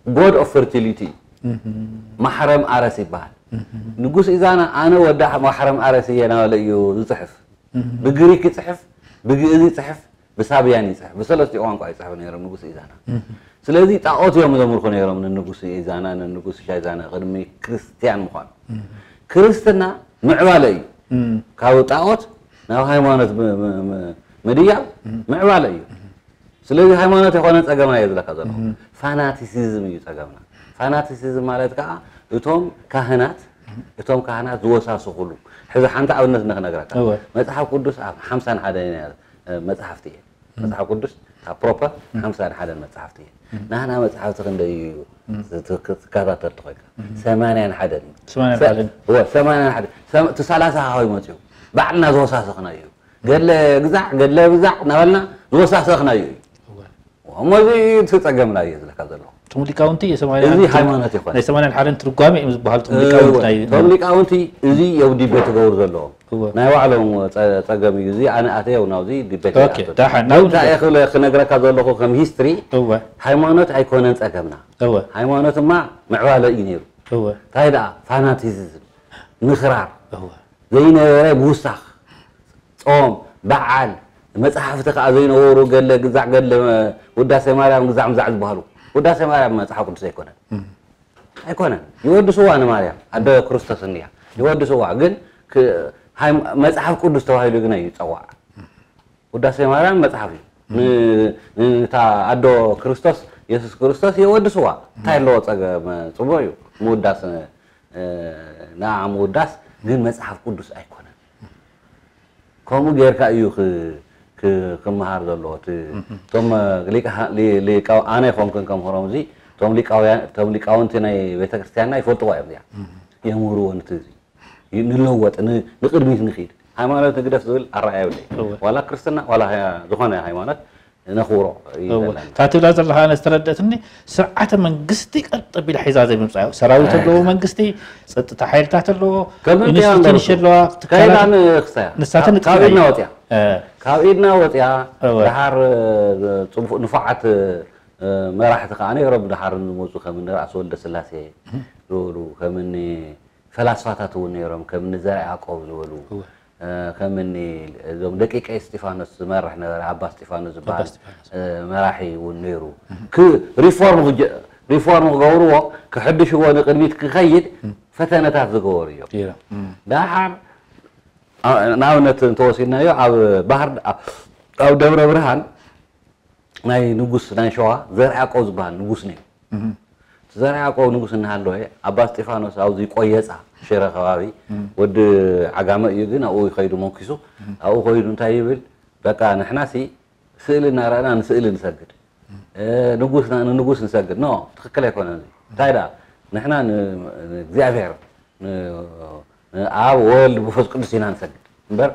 God of fertility እዩ። እም። ማሕረም ኣረስ ይበሃል። እም። ንጉስ ኢዛና ኣነ ወዲ ማሕረም ኣረስ እየ እናበለ እዩ ዝጽሕፍ። እም። ብግሪክ ይጽሕፍ፣ ብግእዝ ይጽሕፍ፣ ብሳብያን ይጽሕፍ። ብሰለስቲኡ ቋንቋ ይጽሕፉ ነይሮም ንጉስ ኢዛና። እም። ስለዚ ጣኦት እዮም ዘምልኹ ነይሮም ንንጉስ ኢዛና፣ ንንጉስ ሻይዛና ቅድሚ ክርስትያን ምዃኑ። እም። ክርስትና ምዕባለ እዩ። እም። ካብ ጣኦት ናብ ሃይማኖት ም-፣ ም-፣ ም-፣ ምድያብ እም። ምዕባለ እዩ። እም። ስለዚ ሃይማኖት ኣይኮነን ጸገምና እየ ዝብለካ ዘለኹ። እም። ፋናቲሲዝም እዩ ጸገምና። ፋናቲሲዝም ማለት ከኣ እቶም ካህናት፣ እቶም ካህናት ዝወሳስኹሉ። ሕዚ ሓንቲ ኣብነት ንክነግረካ። እወ። መጽሓፍ ቅዱስ ኣብ ሓምሳን ሓደን እያ፣ እ፣ መጽሓፍቲ እየን። እም። መጽሓፍ ቅዱስ ካብ ፕሮፐር እም። ሓምሳን ሓደን መጽሓፍቲ እየን። እም። ናህና መጽሓፍቲ ክንደይ እዩ እም። ዝት-፣ ክትከታተል ተኾይንካ? እም። ሰማንያን ሓደን እዩ። ሰማንያን ሰ-፣ ሓደን። እወ፣ ሰማንያን ሓደን። ሰም-፣ እቲ ሰላሳ ካበይ መጽኡ? ባዕልና ዝወሳሰኽናዮ እዩ። ገድለ ግዛዕ፣ ገድለ ብዛዕ እናበልና ዝወሳሰኽናዮ እዩ። እወ። እሞ እዚ እቲ ጸገምና እዩ ዝብለካ ዘለኹ። እቶም ሊቃውንቲ የሰማንያን እዚ ሓደን ትርጉ-፣ ሃይማኖት ይኾን። ናይ ሰማንያን ሓደን ትርጓሜ እዮም ዝበሃሉ እቶም ሊቃውንቲ እወ። ናይ እቶም ሊቃውንቲ እዚ እዮም ዲቤት ክገብሩ ዘለዎም። እወ። ናይ ባዕሎም ጸ-፣ ጸገም እዩ። እዚ ኣነ ኣተየው ናብዚ ዲቤት ኦኬ፣ ኣይኣተን። ዳሓን፣ ግን ናብዚ እንታይ እየ ክብለ-፣ ክነግረካ ዘለኹ ከም ሂስትሪ እወ። ሃይማኖት ኣይኮነን ጸገምና። እወ። ሃይማኖትማ ምዕባለ እዩ ነይሩ። እወ። እንታይ ደኣ ፋናቲዝም፣ ምኽራር፣ እወ። ዘይነበረ ምውሳኽ፣ ጾም፣ በዓል፣ መጽሓፍቲ ከኣ ዘይነበሩ ገለ ግዛዕ ገለ ውዳሴ ማርያም ግዛዕ ምዛዕ ዝበሃሉ። ውዳሴ ማርያም መጽሓፍ ቅዱስ ኣይኮነን። እም። ኣይኮነን። ይወድስዋ ንማርያም፣ ኣደ ክርስቶስ እንድያ። ይወድስዋ፣ ግን ክ-፣ ሃይም-፣ መጽሓፍ ቅዱስ ተባሂሉ ግን እዩ ዝጸዋዕ። ውዳሴ ማርያም መጽሓፍ እዩ። ን-፣ ን-፣ ንታ ኣዶ ክርስቶስ የሱስ ክርስቶስ የወድስዋ። እንታይ ኣለዎ ጸገም? ጽቡቕ እዩ ምውዳስ፣ ንኣ ምውዳስ፣ ግን መጽሓፍ ቅዱስ ኣይኮነን። ከምኡ ጌርካ እዩ ክመሃር ዘለዎ። እቶም ሊቃውንቲ፣ ኣነ ይኮንኩን ከምህሮም፣ እዚ እቶም ሊቃውንቲ ናይ ቤተክርስትያንና ይፈልጥዋ እዮም። እዚኣ የምህርዎ። ንቲ ንለወጥ፣ ንቅድሚት ንክድ፣ ሃይማኖት ንግደፍ ዝብል ኣረኣያ የብለይ። ዋላ ክርስትና ዋላ ዝኾነ ሃይማኖት ነኽብሮ እዩ ዘለና። እታ ትብላ ዘለኻ ኣነ ዝተረደእትኒ፣ ስርዓተ መንግስቲ ቀጥ ኣቢላ ሒዛ ዘይምምፃእ እዩ። ሰራዊት ኣለዎ መንግስቲ፣ ፀጥታ ሓይልታት ኣለዎ፣ ኢንስቲትዩሽን ኣለዋ፣ ትካላት፣ ንሳተን ካብ ኢድና ወፅያ፣ ካብ ኢድና ወፅያ። ደሓር ንፉዓት መራሕቲ ከዓ ነይሮም፣ ደሓር ዝመፁ ከም እኒ ራእሲ ወልደ ስላሴ ዝበሉ፣ ከም እኒ ፈላስፋታት እውን ነይሮም፣ ከም እኒ ዘርዓ ያዕቆብ ዝበሉ፣ ከም እኒ እዞም ደቂቀ እስጢፋኖስ ዝመርሕ ነበረ፣ ኣባ እስጢፋኖስ ዝበሃል መራሒ እውን ነይሩ። ሪፎርም ክገብርዎ፣ ክሕድሽዎ፣ ንቅድሚት ክኸይድ ፈተነታት ዝገበሩ እዮም። ደሓር ንኣብነት እንተወሲድናዮ፣ ኣብ ባህር፣ ኣብ ደብረ ብርሃን ናይ ንጉስ ናይ ሸዋ ዘርዓ ያዕቆብ ዝበሃል ንጉስ ነይሩ። እቲ ዘርዓ ያዕቆብ ንጉስ እናሃለወ፣ ኣባ እስጢፋኖስ ኣብዚ ቆየፃ ሽረ ከባቢ፣ ወዲ ዓጋመ እዩ፣ ግን ኣብኡ ይኸይዱ መንኪሱ። ኣብኡ ኸይዱ እንታይ ይብል? በቃ ንሕናሲ ስእሊ እናረኣና ንስእሊ ንሰግድ፣ ንጉስና ንንጉስ ንሰግድ። ኖ፣ ትኽክል ኣይኮነን። እንታይ ደኣ ንሕና ንእግዚኣብሔር፣ ኣብ ወልድ ብፈስ ቅዱስ ኢና ንሰግድ እምበር፣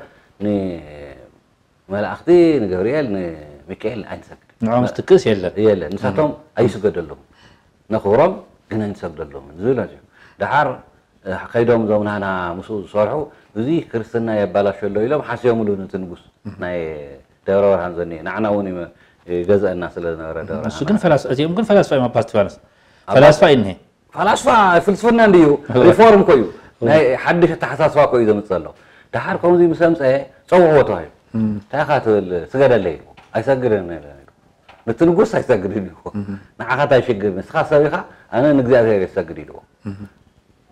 መላእኽቲ ንገብርኤል ንሚካኤል ኣይንሰግድ። ንዖም ዝትክእስ የለን። የለን። ንሳቶም ኣይስገደሎም። ነኽብሮም ግን ኣይንሰግደሎም ዝብል እዩ። ደሓር ከይዶም እዞም ናህና ምስኡ ዝሰርሑ፣ እዚ ክርስትና የባላሸሎ ኢሎም ሓስዮምሉ ነቲ ንጉስ ናይ ደብረ ብርሃን ዘኒኤ። ንዓና እውን ይገዝአና ስለ ዝነበረ ደብረ ንሱ ግን ፈላስ-፣ እዚኦም ግን ፈላስፋ እዮም። ኣባ እስጢፋኖስ ፈላስፋ እዩ እኒሄ። ፈላስፋ ፍልስፍና እንድዩ፣ ሪፎርም እኮ እዩ። ናይ ሓድሽ ኣተሓሳስባ እኮ እዩ ዘምፅእ ዘሎ። ደሓር ከምዚ ምስ ኣምፀአ ፀውዕዎ ተባሂሉ። እንታይ ኢኻ ትብል? ስገደለይ ኢልዎ። ኣይሰግድን ኢለ ኢሉ። ነቲ ንጉስ ኣይሰግድን ኢልዎ። ንዓኻ እንታይ ሽግር? ንስኻ ሰብ ኢኻ፣ ኣነ ንእግዚኣብሔር እየ ዝሰግድ ኢልዎ።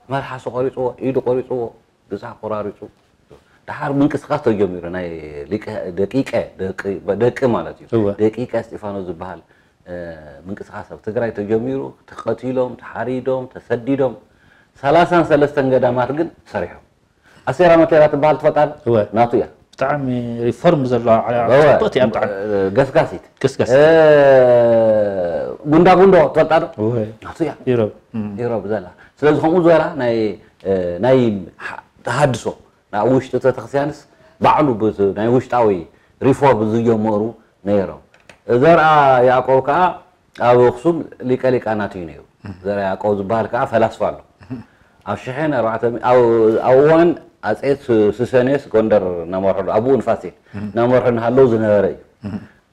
መልሓሱ ቆሪፅዎ፣ ኢዱ ቆሪፅዎ፣ ብፃ ቆራሪፁ። ደሓር ምንቅስቃስ ተጀሚሩ። ናይ ሊቀ-፣ ደቂቀ፣ ደቂ፣ ደቂ ማለት እዩ። ደቂቀ እስጢፋኖስ ዝበሃል ምንቅስቃስ ኣብ ትግራይ ተጀሚሩ፣ ተቐቲሎም፣ ተሓሪዶም፣ ተሰዲዶም። ሰላሳን ሰለስተን ገዳማት ግን ሰሪሖም። ኣሴራ መቴራ ትበሃል ትፈልጣ ዶ? እወ። ናቱ እያ። ብጣዕሚ ሪፎርም ዘለዋ ዓለባ እወ። ጽብቕቲ እያ ብጣዕሚ። ገስጋሲት። ገስጋሲት። እ፣ ጉንዳ ጉንዶ ትፈልጣ ዶ? እወ። ናቱ እያ። ኢሮብ። እም። ኢሮብ ዘላ። ስለዚ ከምኡ ዝበላ ናይ፣ እ፣ ናይ ሓ-፣ ተሃድሶ፣ ናብ ውሽጢ ቤተክርስትያንስ ባዕሉ ብት-፣ ናይ ውሽጣዊ ሪፎርም ዝጀመሩ ነይሮም። ዘርኣ ያዕቆብ ከኣ ኣብ ኣኽሱም ሊቀ ሊቃናት እዩ ነይሩ። ዘርኣ ያዕቆብ ዝበሃል ከኣ ፈላስፋ ኣሎ። ኣብ ሽሕን ኣርባዕተ ሚእትን፣ ኣብ፣ ኣብ እዋን ኣጼ ሱ-፣ ሱሰንዮስ ጎንደር እናመርሑ፣ ኣብኡ ንፋሲል እናመርሑ እናሃለዉ ዝነበረ እዩ።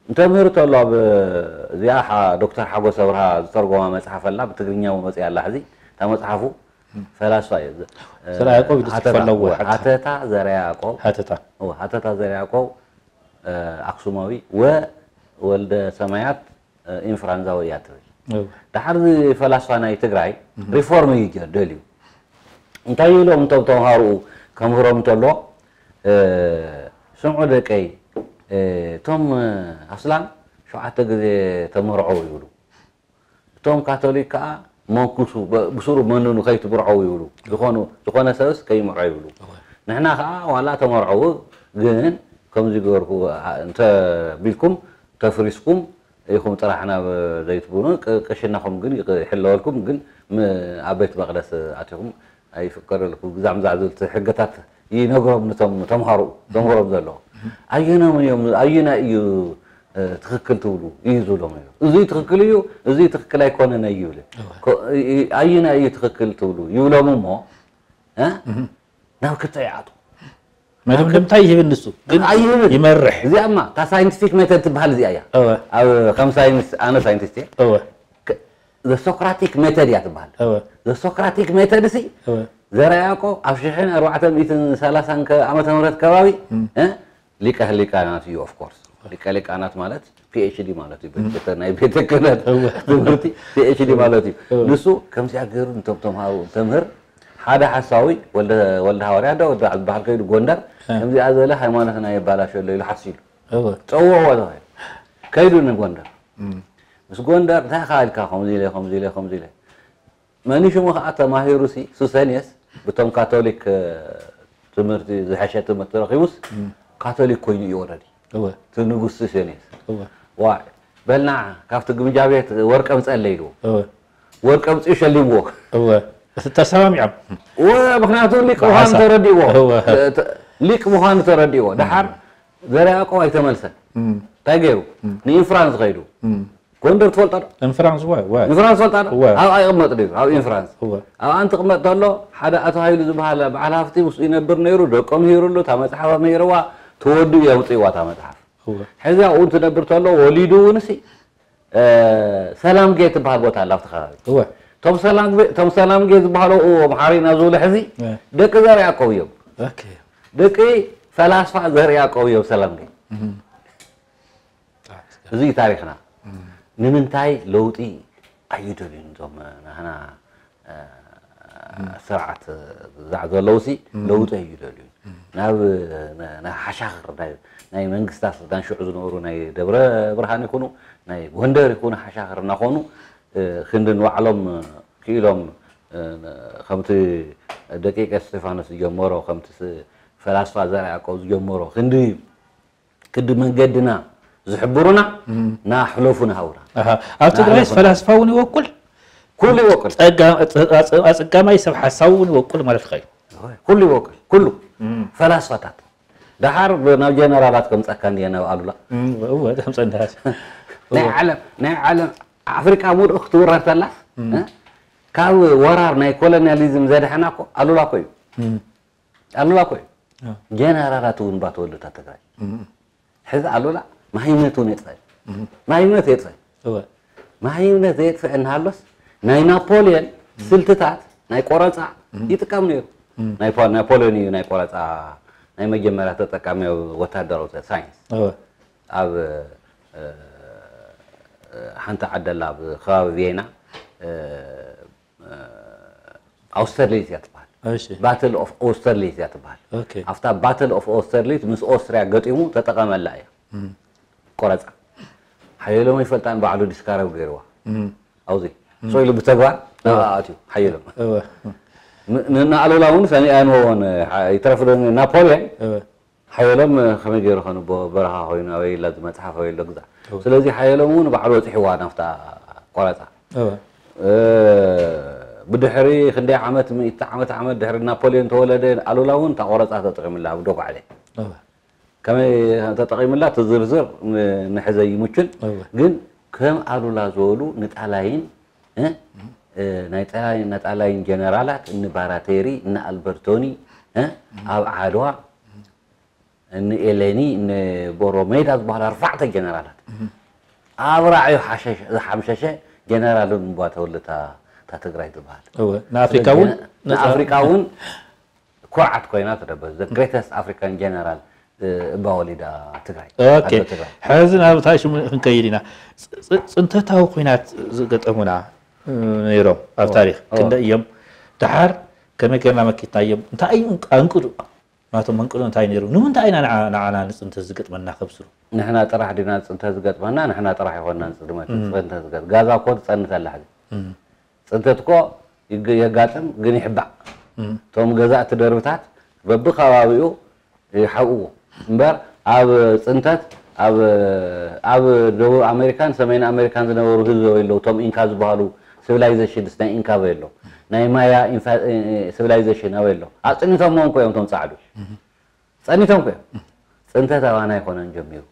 እንተምህር ተሎ ኣብ እዚኣ ሓ-፣ ዶክተር ሓጎስ ኣብርሃ ዝተርጎማ መጽሓፍ ኣላ፣ ብትግርኛ እውን መጽያ ኣላ ሕዚ። እታ መጽሓፉ ፈላስፋ እዩ። ዘርኣ ያዕቆብ ኢሉ ጽሑፍ ሃተታ፣ ኣለዎ፣ ሓታ። ሃተታ ዘርኣ ያዕቆብ። ሃተታ። እወ፣ ሃተታ ዘርኣ ያዕቆብ፣ እ፣ ኣክሱማዊ ወ-፣ ወልደ ሰማያት፣ እ፣ ኢንፍራንዛዊ እያ ትብል። እወ። ደሓር እዚ ፈላስፋ ናይ ትግራይ እህ። ሪፎርም እዩ ጀ-፣ ደልዩ። እንታይ ይብሎም እቶም ተምሃሮኡ ከምህሮም እንተሎ፣ እ፣ ስምዑ ደቀይ፣ እ፣ እቶም፣ እ፣ ኣስላም ሸውዓተ ግዜ ተመርዐው ይብሉ። እቶም ካቶሊክ ከኣ መንኩሱ፣ ብ-፣ ብስሩ መንኑ ከይትብርዐው ይብሉ። ዝኾኑ፣ ዝኾነ ሰብስ ከይምርዖ ይብሉ። እወ። ንሕና ከኣ ዋላ ተመርዐው፣ ግን ከምዚ ገበርኩ፣ ኣ-፣ እንተ ቢልኩም፣ ተፍሪስኩም ኢኹም ጥራሕ ናብ ዘይትብሉን፣ ቅ-፣ ቅሽናኹም ግን ይቅ-፣ ይሕለወልኩም፣ ግን ም-፣ ኣብ ቤት መቕደስ ኣቲኹም ኣይፍቀደልኩም፣ ግዛዕ ምዛዕ ዝብል ሕግታት ይነግሮም፣ ነቶም ተምሃሮ፣ ዘምህሮም ዘሎ። ኣየኖም እዮም፣ ኣየናይ እዩ፣ እ፣ ትኽክል ትብሉ እዩ ዝብሎም ነይሩ። እዚ ትኽክል እዩ፣ እዚ ትኽክል ኣይኮነን እዩ ይብል። እወ። ኮ-፣ እ-፣ እ-፣ ኣየናይ እዩ ትኽክል ትብሉ ይብሎም እሞ፣ እ? እህ። ናብ ክልተ ይዓጡ። መደምደምታ ይህብን ንሱ፣ ግን ኣይህብን። ይመርሕ። እዚኣማ፣ እታ ሳይንቲፊክ ሜተድ ትበሃል እዚኣ እያ። እወ። ኣብ፣ ከም ሳይንስ፣ ኣነ ሳይንቲስት እየ። እወ። ከ-፣ ዘ ሶክራቲክ ሜተድ እያ ትበሃል። እወ። ዘ ሶክራቲክ ሜተድ ሲ፣ እወ። ዘርኣ ያዕቆብ ኣብ ሽሕን ኣርባዕተ ሚእትን ሰላሳን ከ-፣ ዓመተ ምህረት ከባቢ፣ እም። እ? ሊቀ ህሊቃናት እዩ፣ ኦፍ ኮርስ። ሊቀ ሊቃናት ማለት ፒ ኤች ዲ ማለት እዩ። እም። ቤተ-፣ ናይ ቤተ ክህነት እወ። ትምህርቲ ፒ ኤች ዲ ማለት እዩ። እወ። ንሱ ከምዚኣ ገይሩ ንቶም ተምሃሮ ተምህር፣ ሓደ ሓሳዊ ወልደ፣ ወልደ ሃዋርያ ዶ ወልደ ዝበሃል ከይዱ ጎንደር፣ እ። ከምዚኣ ዝበለ ሃይማኖትና የባላሸ ኣሎ ኢሉ ሓሲሉ። እወ። ጸውዕዎ ተባሂሉ። ከይዱ ንጎንደር። እም። ምስ ጎንደር እንታይ ኢኻ ኢልካ ከምዚ ኢለ ከምዚ ኢለ ከምዚ ኢለ መኒሽሙ ከዓ ተማሂሩ ሲ ሱሰንየስ ብቶም ካቶሊክ ትምህርቲ ዝሐሸ ትምህርቲ ረኪቡስ ካቶሊክ ኮይኑ እዩ ወረዲ እቲ ንጉስ ሱሰንየስ ዋ በልና ካብቲ ግምጃ ቤት ወርቂ ኣምፀለይ ኢልዎ ወርቂ ኣምፅኡ ሸሊምዎ ተሰማሚዖም ምክንያቱ ሊቅ ምዃኑ ተረዲእዎ ሊቅ ምዃኑ ተረዲእዎ ደሓር ዘርያቆብ ኣይተመልሰን እንታይ ገይሩ ንኢንፍራንስ ከይዱ ጎንደር ትፈልጦ ዶ? ኢንፍራንስ ወይ ወይ ኢንፍራንስ ትፈልጣ ዶ? እወ። ኣብኣ ይቕመጥ ድዩ? ኣብ ኢንፍራንስ። እወ። ኣብኣ እንትቕመጥ ተሎ ሓደ ኣቶ ሃይሉ ዝበሃል በዓል ሃፍቲ ምስኡ ይነብር ነይሩ፣ ደቆም ሂሩሉ፣ እታ መፅሓፍ ኣምሂርዋ፣ ተወዲኡ የምፅእዋ እታ መፅሓፍ። እወ። ሕዚ ኣብኡ እንትነብር ተሎ ወሊዱ እውን ሲ ሰላምጌ ትበሃል ቦታ ኣላ ኣብቲ ከባቢ። እወ። እቶም ሰላምጌ ዝበሃሉ ኣብኡ ኣምሓሪና ዝብሉ ሕዚ እወ። ደቂ ዘር ያዕቆብ እዮም። ኦኬ። ደቂ ፈላስፋ ዘር ያዕቆብ እዮም ሰላምጌ። እህ። እዚ እዩ ታሪኽና። ንምንታይ ለውጢ ኣይደልዩን እዞም ናህና ስርዓት ዝዛዕ ዘለውሲ ለውጢ ኣይደልዩን ናብ ሓሻኽር ናይ መንግስታት ስልጣን ሽዑ ዝነበሩ ናይ ደብረ ብርሃን ይኹኑ ናይ ጎንደር ይኹኑ ሓሻኽር እናኾኑ ክንዲ ንባዕሎም ክኢሎም ከምቲ ደቂቀ እስጢፋኖስ ዝጀመሮ ከምቲ ፈላስፋ ዘርዓ ያዕቆብ ዝጀመሮ ክንዲ ክዲ መንገድና ዝሕብሩና ናሕለፉ ንሃውና ኣሃ። ኣብ ትግራይስ ናሕለፉ ፈላስፋ እውን ይወቁል ኩሉ ይወቅል ጸጋ- ጸ- ጸ- ኣጸጋማይ ሰብ ሓሳብ እውን ይወቁል ማለት ኸዩ ኩሉ ይወቅል ኩሉ ፈላስፋታት ደሓር ናብ ጀነራላት ከምፀካ እንድየ ናብ ኣሉላ እወ ተምፀንዳስ ናይ ዓለም ናይ ዓለም ኣፍሪቃ ሙሉእ ክትውረር ተላስ እ? ካብ ወራር ናይ ኮሎኒያሊዝም ዘድሐና እኮ ኣሉላ እኮ እዩ ኣሉላ እኮ እዩ ጀነራላት እውን ባተወሉታ ትግራይ ሕዚ ኣሉላ ማይነት እውን የጥፈ ማይነት የጥፈ ማይነት ዘየጥፍአ እናሃሎስ ናይ ናፖሊዮን ስልትታት ናይ ቆረፃ ይጥቀም ነይሩ ናፖሊዮን እዩ ናይ ቆረፃ ናይ መጀመርያ ተጠቃሚ ወታደራዊ ሳይንስ ኣብ ሓንቲ ዓደላ ኣብ ከባቢ ቬና ኣውስተርሊት እያ ትበሃል እሺ ባትል ኦፍ ኦስተርሊት እያ ትበሃል ኦኬ ኣብታ ባትል ኦፍ ኦስተርሊት ምስ ኦስትሪያ ገጢሙ ተጠቐመላ እያ ቆረፃ ሓየሎም ኣይፈልጣን ባዕሉ ዲስካረብ ገይርዋ ኣብዚ ሶ ኢሉ ብተግባር ናብኣ ኣትዩ ሓየሎም እወ ንኣሉላ እውን ሰኒኣንዎን ይትረፍ ዶ ናፖሊዮን እወ ሓየሎም ከመይ ገይሩ ከንቦ በረኻ ኮይኑ ኣበይ ኢላ ዝመፅሓፍ ኣበይ ኣሎ ግዛዕ ስለዚ ሓየሎም እውን ባዕሉ በፂሕዋ ናብታ ቆረፃ ብድሕሪ ክንደይ ዓመት ምእቲ ዓመት ዓመት ድሕሪ ናፖሊዮን ተወለደ ኣሉላ እውን እታ ቆረፃ ተጠቂምላ ኣብ ዶጓዕለ ከመይ ተጠቂምላ እቲ ዝርዝር ንሕዘ ይምቹን ግን ከም ኣሉላ ዝበሉ ንጣላይን ናጣላይን ጀነራላት እኒ ባራቴሪ እኒ ኣልበርቶኒ ኣብ ዓድዋ እኒ ኤሌኒ እኒ ቦሮሜዳ ዝበሃሉ ኣርባዕተ ጀነራላት ኣብ ራዕዩ ዝሓምሸሸ ጀነራል እምባ ተወልታ እታ ትግራይ ዝበሃል እወ ንኣፍሪካ እውን ንኣፍሪካ እውን ኩርዓት ኮይና ትደበ the greatest African general እባ ወሊዳ ትግራይ ኦኬ ኣዶ ትግራይ ሕዚ ናብ እታ ሽሙ ክንከይድ ኢና ፅ- ፅ- ፅንተታዊ ኩናት ዝገጠሙና እ፣ ነይሮም ኣብ ታሪክ ክንደ እዮም ደሓር ከመይ ገርና መኪትና እዮም እንታይ እዩ ኣንቅዱ ናቶም መንቅዶ እንታይ ነይሩ ንምንታይ ኢና ንዓ- ንዓና ንፅንተት ዝገጥመና ከብስሩ ንሕና ጥራሕ ዲና ፅንተ ዝገጥመና ንሕና ጥራሕ ይኮንና ንፅድመት ፅንተ ዝገጥ ጋዛ እኮ ትፀንት ኣላ ሕዚ ፅንተት እኮ ይግ- የጋጥም ግን ይሕባእ እቶም ገዛእቲ ደርብታት በብከባቢኡ ይሓብእዎ እምበር ኣብ ፅንተት ኣብ ኣብ ደቡብ ኣሜሪካን ሰሜን ኣሜሪካን ዝነበሩ ህዝቢ ኣበይ ኣለዉ እቶም ኢንካ ዝበሃሉ ሲቪላይዜሽንስ ናይ ኢንካ ኣበይ ኣሎ ናይ ማያ ሲቪላይዜሽን ኣበይ ኣሎ ኣፅኒቶምዎም እኮ እዮም እቶም ፃዕዱ ፀኒቶም እኮ እዮም ፅንተት ኣባና ኣይኮነን ጀሚሩ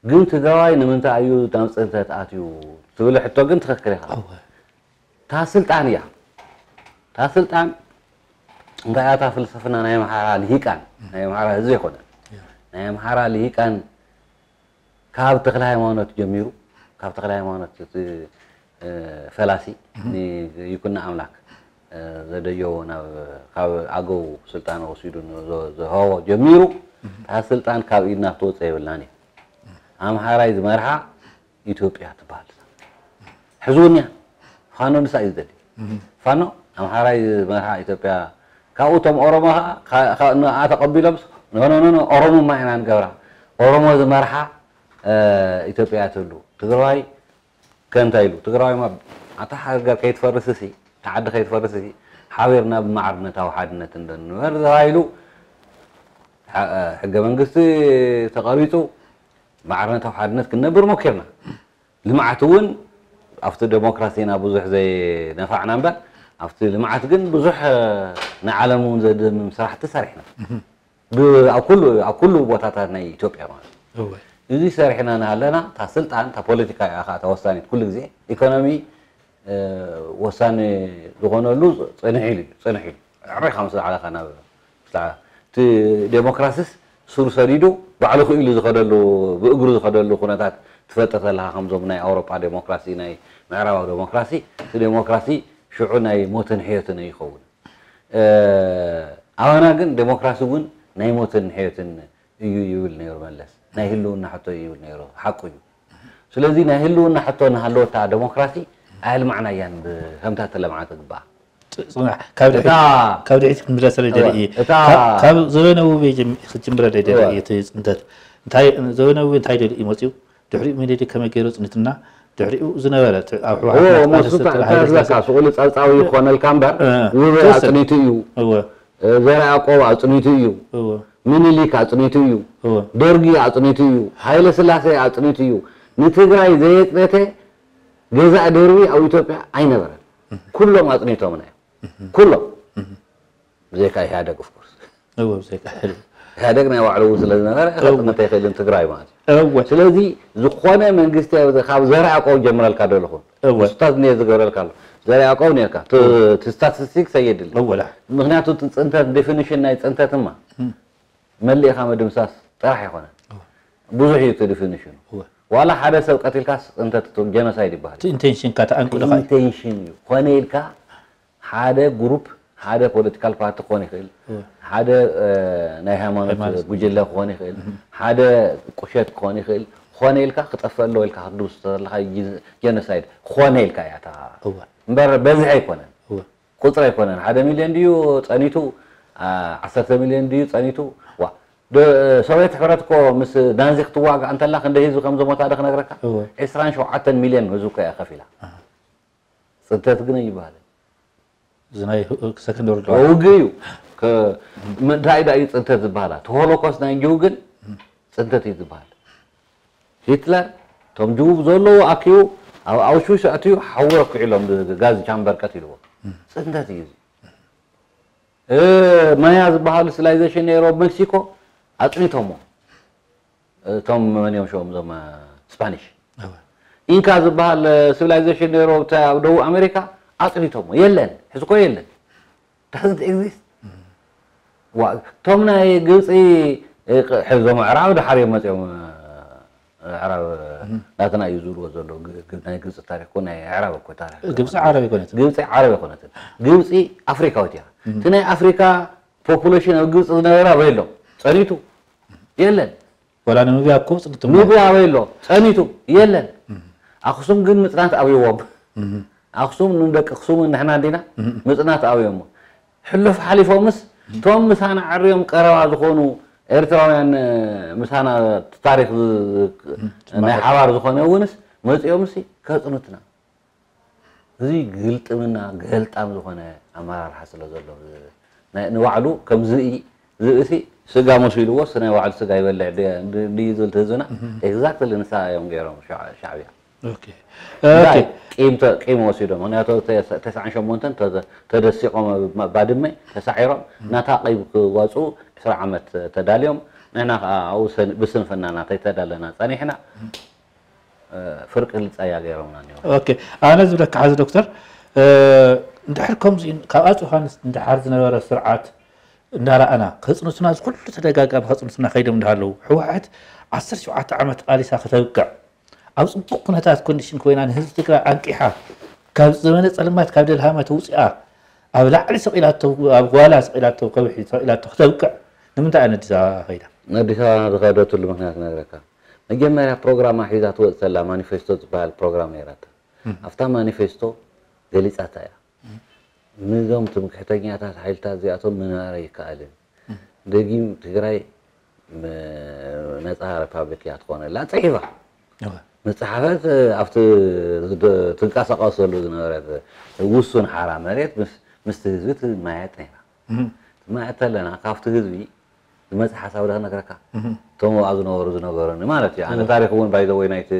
ግን ትግራዋይ ንምንታይ እዩ ናብ ፅንተት ኣትዩ ትብል ሕቶ ግን ትኽክል ኢኻ እታ ስልጣን እያ እታ ስልጣን እንታይ እያ እታ ፍልስፍና ናይ ኣምሓራ ልሂቃን ናይ ኣምሓራ ህዝቢ ኣይኮነን ናይ ኣምሓራ ልሂቃን ካብ ተክለ ሃይማኖት ጀሚሩ ካብ ተክለ ሃይማኖት እቲ ፈላሲ ይኩና ኣምላክ ዘደየዎ ናብ ካብ ኣገው ስልጣን ወሲዱ ዝሃቦ ጀሚሩ እታ ስልጣን ካብ ኢድና ክትወፀ የብልናን እዩ ኣምሓራይ ዝመርሓ ኢትዮጵያ ትበሃል ሕዝውንያ ፋኖ ንሳ እዩ ዝደሊ ፋኖ ኣምሓራይ ዝመርሓ ኢትዮጵያ ካብኡ እቶም ኦሮሞ ከዓ ንኣ ተቀቢሎም ኖኖኖ ኦሮሞማ ኢና ንገብራ ኦሮሞ ዝመርሓ ኢትዮጵያ ትህሉ ትግራዋይ ከእንታይ ኢሉ ትግራዋይ ማ ኣታ ሃገር ከይትፈርስ ሲ እታ ዓዲ ከይትፈርስ ሲ ሓቢርና ብማዕርነታዊ ሓድነት እንዶ ንበር ተባሂሉ። ሐ- ሕገ መንግስቲ ተቐሪፁ ማዕርነታዊ ሓድነት ክንነብር ሞኪርና። ልምዓት እውን ኣብቲ ዴሞክራሲና ብዙሕ ዘይነፋዕና እምበር ኣብቲ ልምዓት ግን ብዙሕ ንዓለም እውን ዘድምም ስራሕቲ ሰሪሕና። ብ- ኣብ ኩሉ ኣብ ኩሉ ቦታታት ናይ ኢትዮጵያ ማለት እዩ። እወ እዚ ሰሪሕና እናሃለና እታ ስልጣን እታ ፖለቲካ እያ ከዓ እታ ወሳኒት ኩሉ ግዜ ኢኮኖሚ ወሳኒ ዝኾነሉ ፅንሕ ኢሉ እዩ ፅንሕ ኢሉ ዕሬኻ ምስ ዝዓለኻ ናብ እቲ ዴሞክራሲስ ስሩ ሰዲዱ ባዕሉ ክኢሉ ዝኸደሉ ብእግሩ ዝኸደሉ ኩነታት ትፈጥር ተለኻ ከምዞም ናይ ኣውሮጳ ዴሞክራሲ ናይ ምዕራባዊ ዴሞክራሲ እቲ ዴሞክራሲ ሽዑ ናይ ሞትን ሕየትን ይኸውን ኣባና ግን ዴሞክራሲ እውን ናይ ሞትን ሕየትን እዩ ይብል ነይሩ መለስ ናይ ህልውና ሕቶ እዩ ይብል ነይሩ ሓቁ እዩ ስለዚ ናይ ህልውና ሕቶ እናሃለወታ ዴሞክራሲ ኣየልማዕናያን ብከምታ ተለምዓ ትግባኣ ካብ ድሕሪት ክንብላ ስለ ደርኢ ካብ ዘበነ ውቤ ክትጅምረ ደደርኢ እቲ ፅንተት ዘበነ ውቤ እንታይ ደርኢ መፅኡ ድሕሪኡ ምኒልክ ከመይ ገይሩ ኣፅኒትና ድሕሪኡ ዝነበረ ኣብ ህወሓትዝለካ ስቑሉ ፀብፃዊ ይኾነልካ እምበር ውበ ኣፅኒቱ እዩ ዘርኣ ያዕቆብ ኣፅኒቱ እዩ ምኒልክ ኣፅኒቱ እዩ ደርጊ ኣፅኒቱ እዩ ሃይለ ስላሴ ኣፅኒቱ እዩ ንትግራይ ዘየፅነተ ገዛእ ደርቢ ኣብ ኢትዮጵያ ኣይነበረን ኩሎም ኣፅኒቶምና እዮም ኩሎም ብዘይካ ኢህኣደግ ኦፍኮርስ እወ ብዘይካ ሕልም ኢህኣደግ ናይ ባዕሉ እውን ስለ ዝነበረ ክጥምት ኣይኽእልን ትግራይ ማለት እዩ እወ ስለዚ ዝኾነ መንግስቲ ካብ ዘርኣ ያዕቆብ ጀምረልካ ዶ ኣለኹ እወ ስታት ነ ዝገብረልካ ኣሎ ዘርኣ ያዕቆብ ነርካ እቲ ስታቲስቲክስ ኣየድልን እወላ ምክንያቱ እቲ ፅንተት ዴፊኒሽን ናይ ፅንተትማ መሊእኻ ምድምሳስ ጥራሕ ኣይኮነን ብዙሕ እዩ እቲ ዴፊኒሽኑ እወ ዋላ ሓደ ሰብ ቀቲልካስ ፅንተት ጀኖሳይድ ይበሃል እቲ ኢንቴንሽንካ ተኣንቁ ድኻ እዩ ኢንቴንሽን እዩ ኮነ ኢልካ ሓደ ግሩፕ ሓደ ፖለቲካል ፓርቲ ክኾን ይኽእል ሓደ ናይ ሃይማኖት ጉጅለ ክኾን ይኽእል ሓደ ቁሸት ክኾን ይኽእል ክኾነ ኢልካ ክጠፍእ ኣለዎ ኢልካ ክትድምስሶ ዘለካ ጀኖሳይድ ክኾነ ኢልካ እያ እታ እወ እምበር በዝሒ ኣይኮነን እወ ቁፅሪ ኣይኮነን ሓደ ሚልዮን ድዩ ፀኒቱ ዓሰርተ ሚልዮን ድዩ ፀኒቱ ዋ ዶ- ሶቪየት ሕብረት እኮ ምስ ናዚ ክትዋጋእ እንተላ ክንደ ህዝቢ ከም ዘሞታ ዶ ክነግረካ እወ ዕስራን ሸውዓተን ሚልዮን ህዝቢ እኮ እያ ከፊላ ፅንተት ግን ኣይበሃልን እዚ ናይ ሰከንድ ወርልድ ውግ እዩ ከ- ም- እንታይ ዳ እዩ ፅንተት ዝበሃላ እቲ ሆሎኮስት ናይ እንጅው ግን ፅንተት እዩ ዝበሃል ሂትለር እቶም ጅው ዘለዉ ኣኪቡ ኣብ ኣውሽዊሽ ኣትዩ ሓዊ ኣኩዒሎም ጋዝ ቻምበር ቀቲልዎ ፅንተት እዩ እዚ እ፣ ማያ ዝበሃሉ ሲቪላይዜሽን ነይሩ ኣብ ሜክሲኮ ኣፅኒቶሞ እቶም መን እዮም ሽኦም እዞም ስፓኒሽ እወ ኢንካ ዝበሃል ሲቪላይዜሽን ነይሩ ኣብታ- ኣብ ደቡብ ኣሜሪካ ኣፅኒቶሞ የለን ሕዚ ኮ የለን doesn't exist ዋ እቶም ናይ ግብፂ እ፣ ቅ- ሕዞም ኣዕራብ ድሓር እዮም መፅኦም እ፣ ኣዕራብ ናትና እዩ ዝብልዎ ዘሎ ግ- ግ- ናይ ግብፂ ታሪክ ኮ ናይ ኣዕራብ እኮ ታሪክ ግብፂ ዓረብ ይኮነት ግብፂ ዓረብ ኣይኮነትን ግብፂ ኣፍሪካዊት እያ እቲ ናይ ኣፍሪካ ፖፑሌሽን ኣብ ግብፂ ዝነበረ ኣበይ ኣሎ ፀኒቱ የለን ወላ ንኑብያ እኮ ፅንቱ ኑብያ ኣበይ ኣሎ ፀኒቱ የለን ኣክሱም ግን ምፅናት ኣብይዎም ኣክሱም ንደቂ ኣክሱም ንሕና እንዲና ምፅናት ኣብዮሞ ሕሉፍ ሓሊፎምስ እቶም ምሳና ዓርዮም ቀረባ ዝኾኑ ኤርትራውያን ምሳና ታሪክ ናይ ሓባር ዝኾነ እውንስ መፂኦምሲ ከፅኑትና እዚ ግልጥምና ገልጣም ዝኾነ ኣመራርሓ ስለ ዘሎ ንባዕሉ ከም ዝኢ ዝእሲ ስጋ መሲልዎ ናይ ባዕሉ ስጋ ይበልዕ ድዩ ዝብል ትህዝና exactly ንሳ እዮም ገይሮም ሻዕብያ ቂም ወሲዶም ምክንያቱ ተስዓን ሸሞንተን ተደሲቆም ባድመ ተሳዒሮም ናታ ቀይብ ክዋፅኡ ዕስራ ዓመት ተዳልዮም ንሕና ከዓ ኣብኡ ብስንፍናና ተይተዳለና ፀኒሕና ፍርቂ ልፀያ ገይሮምና እኒኦ ኦኬ ኣነ ዝብለካ ሓዚ ዶክተር እንድሕር ከምዚ ካብ ኣፅ ዮሃንስ እንድሓር ዝነበረ ስርዓት እንዳረኣና ከፅንሱና እዚ ኩሉ ተደጋጋሚ ከፅንሱና ከይዶም እንዳሃለዉ ህወሓት ዓሰርተ ሸውዓተ ዓመት ቃሊሳ ከተብቅዕ ኣብ ፅቡቅ ኩነታት ኮንዲሽን ኮይና ንህዝቢ ትግራይ ኣንቂሓ ካብ ዘመነ ፀልማት ካብ ደልሃመ ተውፅኣ ኣብ ላዕሊ ሰቂላቶ ኣብ ጓላ ሰቂላቶ ከብሒ ሰቂላቶ ክተብቅዕ ንምንታይ ኣነ ኣዲስ ኣበባ ከይዳ ኣዲስ ኣበባ ዝኸደትሉ ምክንያት ክነግረካ መጀመርያ ፕሮግራማ ሒዛ ትወፅእ ተላ ማኒፌስቶ ዝበሃል ፕሮግራም ነይራታ ኣብታ ማኒፌስቶ ገሊፃታ እያ ንዞም ትምክሕተኛታት ሓይልታት እዚኣቶም ምንባር ኣይከኣልን ደጊም ትግራይ ነፃ ሪፓብሊክ እያ ትኾነላ ፅሒፋ መጽሓፈት ኣብቲ ዝደ- ትንቀሳቐሰሉ ዝነበረት ውሱን ሓራ መሬት ምስ ምስቲ ህዝቢ ትመያየጥ ነይራ። ትመያየጥ ተለና ካብቲ ህዝቢ ዝመጽእ ሓሳብ ዶ ክነግረካ? እቶም ኣብኣ ዝነበሩ ዝነገሩኒ ማለት እዩ። ኣነ ታሪኽ እውን ባይዘወይ ናይቲ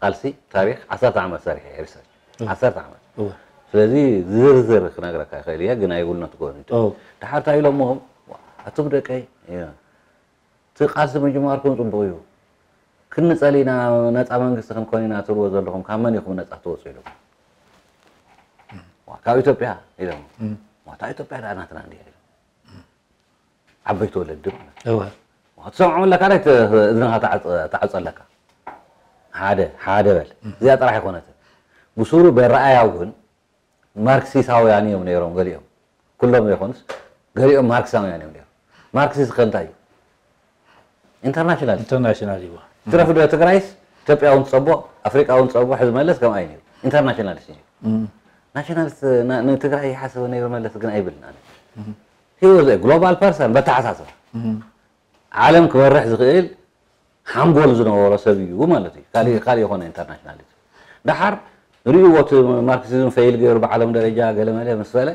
ቃልሲ ታሪኽ ዓሰርተ ዓመት ሰሪሐ እየ ሪሰርች። ዓሰርተ ዓመት። ስለዚ ዝርዝር ክነግረካ ይኽእል እየ፣ ግን ኣይውልነት ጎኒ። ድሓር እንታይ ኢሎሞ ኣቱም ደቀይ እቲ ቃልሲ ምጅማርኩም ጽቡቕ እዩ። ክንጸል ኢና፣ ነጻ መንግስቲ ክንኮን ኢና ትብልዎ ዘለኹም ካብ መን ኢኹም ነጻ ትወጹ ኢሎም። ዋ፣ ካብ ኢትዮጵያ ኢሎም። ዋ፣ እታ ኢትዮጵያ ደኣ ናትና እንዲያ ኢሎም። ዓበይቲ ወለዲ ማለት እዩ። እወ። ዋ፣ ትሰምዖም ኣለካ ዳይ ተ- እዝንኻ ተዓጽ- ተዓጸለካ። ሓደ ሓደ በል። እዚኣ ጥራሕ ኣይኮነትን። ብሱሩ በረኣያ እውን ማርክሲሳውያን እዮም ነይሮም ገሊኦም። ኩሎም ዘይኮኑስ ገሊኦም ማርክሳውያን እዮም ነይሮም። ማርክሲስት ከ እንታይ እዩ? ኢንተርናሽናል። ኢንተርናሽናል እዩ። ትረፍ ዶ ትግራይስ ኢትዮጵያ እውን ትጸቦ ኣፍሪቃ እውን ትጸቦ ሕዚ መለስ ከምኣ እዩ ነይሩ። ኢንተርናሽናሊስት እዩ። ናሽናሊስት ና- ንትግራይ ይሓስበ ነይሩ መለስ ግን ኣይብልን ኣነ። He was a global person በተሓሳስባ። ዓለም ክመርሕ ዝኽእል ሓንጎል ዝነበሮ ሰብ እዩ ማለት እዩ። ካልእ ካልእ ይኾነ ኢንተርናሽናሊዝም። ደሓር ርእይዎ እቲ ማርክሲዝም ፈይል ገይሩ ብዓለም ደረጃ ገለመለ ምስ በለ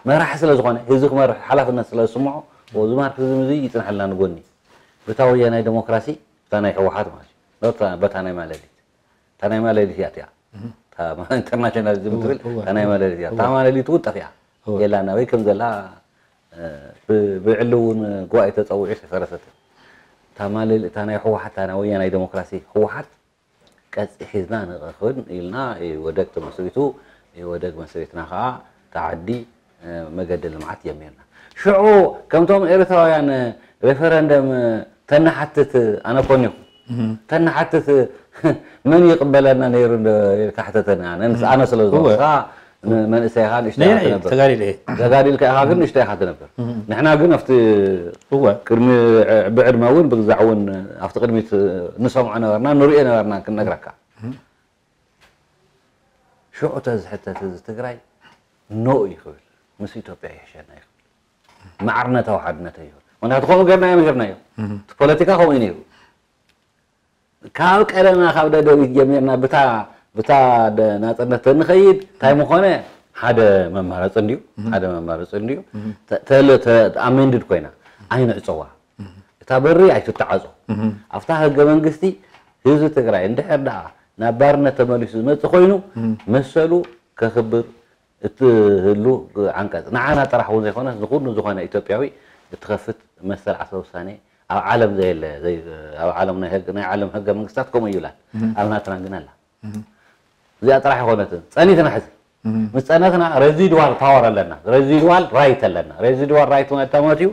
መራሒ ስለ ዝኾነ ህዝቢ ክመርሕ ሓላፍነት ስለ ዝስምዖ እዚ ማርክሲዝም እዚ ይፅንሐልና ንጎኒ ብታ ወያናይ ዴሞክራሲ ብታ ናይ ህወሓት ማለት እዩ። በታ በታ ናይ ማለሊት እታ ናይ ማለሊት እያ እቲኣ። እታ ኢንተርናሽናሊዝም ትብል እታ ናይ ማለሊት እያ። እታ ማለሊት እውን ጠፊኣ የላና ወይ ከም ዘላ ብዕሊ እውን ጉባኤ ተፀዊዑ ኣይፈረሰትን። እታ ማለሊ እታ ናይ ህወሓት እታ ናይ ወያናይ ዴሞክራሲ ህወሓት ቀፂ ሒዝና ንኽን ኢልና ኢወደግ ተመስሪቱ። ኢወደግ መስሪትና ከዓ እታ ዓዲ መገዲ ልምዓት ጀሚርና። ሽዑ ከምቶም ኤርትራውያን ሬፈረንደም ተንሓትት ኣነ ኮኒኹ ተንሓትት መን ይቕበለና ነይሩ ኢልካ ሕተተኒ። ኣነ ስለ ዝኾንካ መንእሰይ ኢኻ ንእሽተይ ኢኻ ትነብር። ተጋዲለ እየ። ተጋዲልካ ኢኻ ግን ንእሽተይ ኢኻ ትነብር። ንሕና ግን ኣብቲ እወ። ቅድሚ ብዕድመ እውን ብግዛዕ እውን ኣብቲ ቅድሚት ንሰምዖ ነበርና ንሪኦ ነበርና ክንነግረካ። ሽዑ ተዝሕተት እዚ ትግራይ ኖ እዩ ክብል ምስ ኢትዮጵያ ይሕሸና እዩ ክብል ማዕርነታዊ ሓድነት እዩ። ምክንያቱ ከምኡ ገርናዮ ገርናዮ እቲ ፖለቲካ ከምኡ እዩ ነይሩ። ካብ ቀደምና ካብ ደደቢት ጀሚርና ብታ ብታ ናፅነት ተንኸይድ እንታይ ምኾነ ሓደ መማረፂ እንድዩ ሓደ መማረፂ እንድዩ ተለ ኣሜንድድ ኮይና ኣይንዕፀዋ እታ በሪ ኣይትተዓፆ ኣብታ ህገ መንግስቲ ህዝቢ ትግራይ እንድሕር ደኣ ናብ ባርነት ተመሊሱ ዝመፅእ ኮይኑ መሰሉ ከኽብር እትህሉ ዓንቀፅ ንዓና ጥራሕ እውን ዘይኮነስ ንኩሉ ዝኾነ ኢትዮጵያዊ እትኸፍት መሰል ዓርሰ ውሳኔ ኣብ ዓለም ዘየለ ኣብ ዓለም ናይ ዓለም ህገ መንግስታት ከምኡ ይብላል ኣብ ናትና ግን ኣላ እዚኣ ጥራሕ ኣይኮነትን ጸኒትና ሕዚ ምስ ጸነትና residual power ኣለና residual right ኣለና residual right ማለት እዩ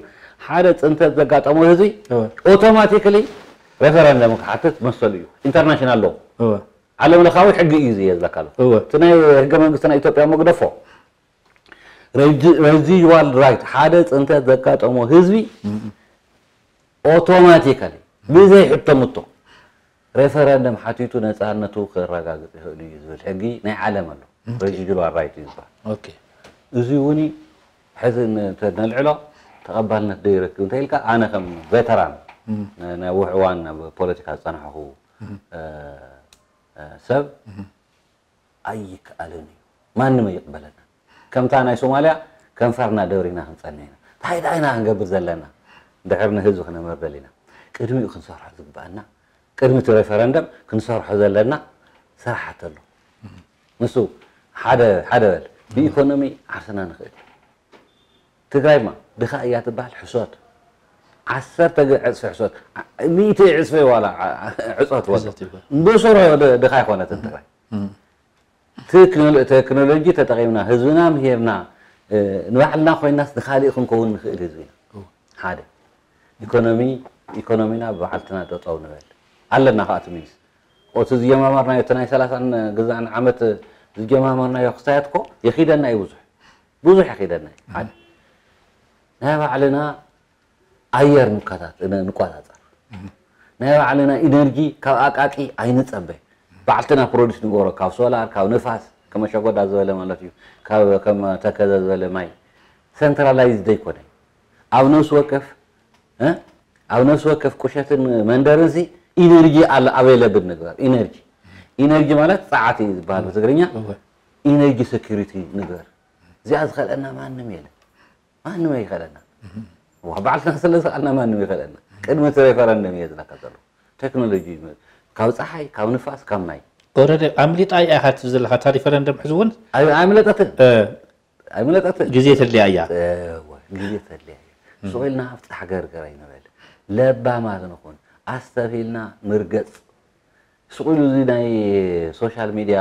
ሓደ ጽንተት ዘጋጠሞ ህዝቢ automatically referendum ክሓትት መሰሉ እዩ international law ዓለም ለኻዊ ሕጊ እዩ ዝየ ዝለካ ኣሎ እወ እቲ ናይ ህገ መንግስቲ ናይ ኢትዮጵያ መግደፎ residual right ሓደ ፅንተት ዘጋጠሞ ህዝቢ automatically ብዘይ ሕቶ ምቶ referendum ሓቲቱ ነፃነቱ ክረጋግፅ ይኽእል እዩ ዝብል ሕጊ ናይ ዓለም ኣሎ residual right እዩ ዝበሃል ኦኬ እዚ እውን ሕዚ እንተነልዕሎ ተቐባልነት ዶ ይረክብ እንተ ኢልካ ኣነ ከም veteran ነዊሕ እዋን ኣብ ፖለቲካ ዝፀናሕኹ ሰብ ኣይከኣልን እዩ ማንም ኣይቕበለና ከምታ ናይ ሶማልያ ከንፈርና ደብሪና ክንፀንሕ ኢና እንታይ ደኣ ኢና ክንገብር ዘለና ድሕር ንህዝቢ ክነመርደል ኢና ቅድሚኡ ክንሰርሖ ዝግበኣና ቅድሚ እቲ referendum ክንሰርሖ ዘለና ስራሓት ኣሎ ንሱ ሓደ ሓደ በል ብኢኮኖሚ ዓርስና ንኽእል ትግራይማ ድኻ እያ ትበሃል ሕሶት ዓሰርተ ዕፅፊ ሕሶት ሚእቲ ዕፅፊ ዋላ ዕፆት ወ ብስሩ ድኻ ኣይኮነትን ትግራይ ቴክኖሎጂ ተጠቒምና ህዝብና ምሂርና ንባዕልና ኮይናስ ንካሊእ ክንከውን ንኽእል ህዝቢ ኢና ሓደ ኢኮኖሚ ኢኮኖሚና ብባዕልትና ጠጠው ንበል ኣለና ከዓ ትሚኒስ እቲ ዝጀማመርናዮ እቲ ናይ ሰላሳን ግዛዕን ዓመት ዝጀማመርናዮ ክስታያት እኮ የኺደና እዩ ብዙሕ ብዙሕ የኺደና እዩ ሓደ ናይ ባዕልና ኣየር ንቆፃፀር ናይ ባዕልና ኢነርጂ ካብ ኣቃቂ ኣይንፀበ ባዕልትና ፕሮዲስ ንገብሮ ካብ ሶላር ካብ ንፋስ ከመሸጎዳ ዝበለ ማለት እዩ ካብ ከም ተከዘ ዝበለ ማይ ሰንትራላይዝ ዘይኮነ ኣብ ነፍሲ ወከፍ ኣብ ነፍሲ ወከፍ ቁሸትን መንደርን ሲ ኢነርጂ ኣሎ ኣቬለብል ንግበር። ኢነርጂ ኢነርጂ ማለት ጸዓት እዩ ዝበሃል ብትግርኛ። ኢነርጂ ሴኩሪቲ ንግበር። እዚኣ ዝኸልአና ማንም የለን። ማንም ኣይኸለና። ዋ ባዕልና ስለ ዝኸኣልና ማንም ይኸለና። ቅድሚ እቲ ሬፈረንደም እየ ዝነካ ዘሎ። ቴክኖሎጂ ካብ ፀሓይ ካብ ንፋስ ካብ ማይ። ኦረደ ኣምሊጣ እያ ኢኻ ትብል ዘለኻ እታ ሪፈረንደም ሕዚ እውን ኣይ- ኣይምለጠትን። ኣይምለጠትን። ግዜ ተድልያ እያ። እወ፣ ግዜ ተድልያ እያ። ስቕ ኢልና ኣብቲ ሓገርገር ኣይንበል። ለባማት ንኹን። ኣስተብሂልና ንርገፅ። ስቕ ኢሉ እዚ ናይ ሶሻል ሚድያ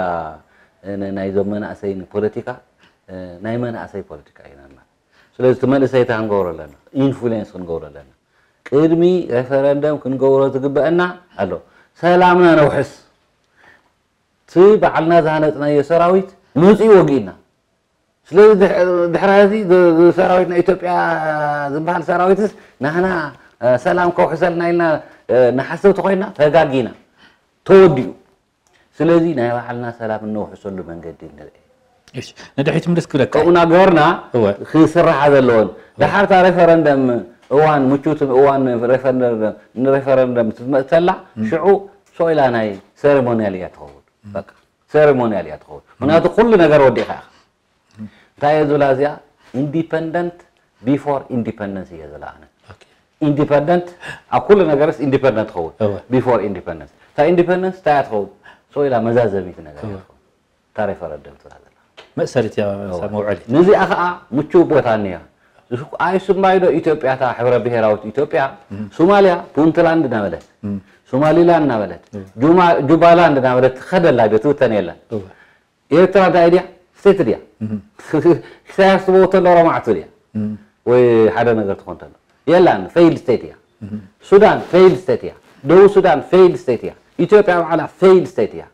ን- ናይዞም መናእሰይ ፖለቲካ ናይ መናእሰይ ፖለቲካ እዩ ናና። ስለዚ እቲ መንእሰይ እንታይ ክንገብሮ ኣለና? ኢንፍሉዌንስ ክንገብሮ ኣለና። ቅድሚ ሬፈረንደም ክንገብሮ ዝግበአና ኣሎ። ሰላምና ነውሕስ። እቲ ባዕልና ዝሃነፅናዮ ሰራዊት መፂኡ ወጊእና። ስለዚ ድሕሪ ሕዚ ሰራዊት ናይ ኢትዮጵያ ዝበሃል ሰራዊትስ ናህና ሰላም ከውሕሰልና ኢልና ንሓስብ ተኮይና ተጋጊና። ተወዲኡ። ስለዚ ናይ ባዕልና ሰላም እነውሕሰሉ መንገዲ ንርአ። እሺ፣ ንድሕሪት ምልስ ክብለካ። ከምኡ እናገበርና እወ። ክስራሓ ዘለዎን ድሓርታ ሬፈረንደም እዋን ምቹት እዋን ሬፈረንደም ንሬፈረንደም ትመፅተላ ሽዑ ሶኢላ ናይ ሴሬሞኒያል እያ ትኸውን። በቃ ሴሬሞኒያል እያ ትኸውን። ምክንያቱ ኩሉ ነገር ወዲእካ ኢኻ። እንታይ እየ ዝብላ እዚኣ ኢንዲፐንደንት ቢፎር ኢንዲፐንደንስ እየ ዝብላ ኣነ። ኢንዲፐንደንት ኣብ ኩሉ ነገርስ ኢንዲፐንደንት ትኸውን እወ። ቢፎር ኢንዲፐንደንስ። እታ ኢንዲፐንደንስ እንታይ እያ ትኸውን? ሶ ኢላ መዛዘሚት ነገር እያ እወ። ትኸውን። እታ ሬፈረንደም ትብላ ዘላ። መእሰሪት እያ እሳ መውዐሊት። ነዚኣ ከዓ ምቹው ቦታ እኒያ። ኣይስማይ ዶ ኢትዮጵያ እታ ሕብረ ብሔራዊት ኢትዮጵያ ሶማሊያ ፑንትላንድ እናበለት ሶማሊላንድ እናበለት ጁማ- ጁባላንድ እናበለት ትኸደላ ዶ ትብተን የለን። እወ። ኤርትራ እንታይ ድያ? ስቴት ድያ? ኢሳያስ ትበው ተሎ ረማዕቱ ድያ? ወይ ሓደ ነገር ትኾን ተሎ የላን። ፌይልድ ስቴት እያ። ሱዳን ፌይልድ ስቴት እያ። ደቡብ ሱዳን ፌይልድ ስቴት እያ። ኢትዮጵያ ባዕላ ፌይልድ ስቴት እያ።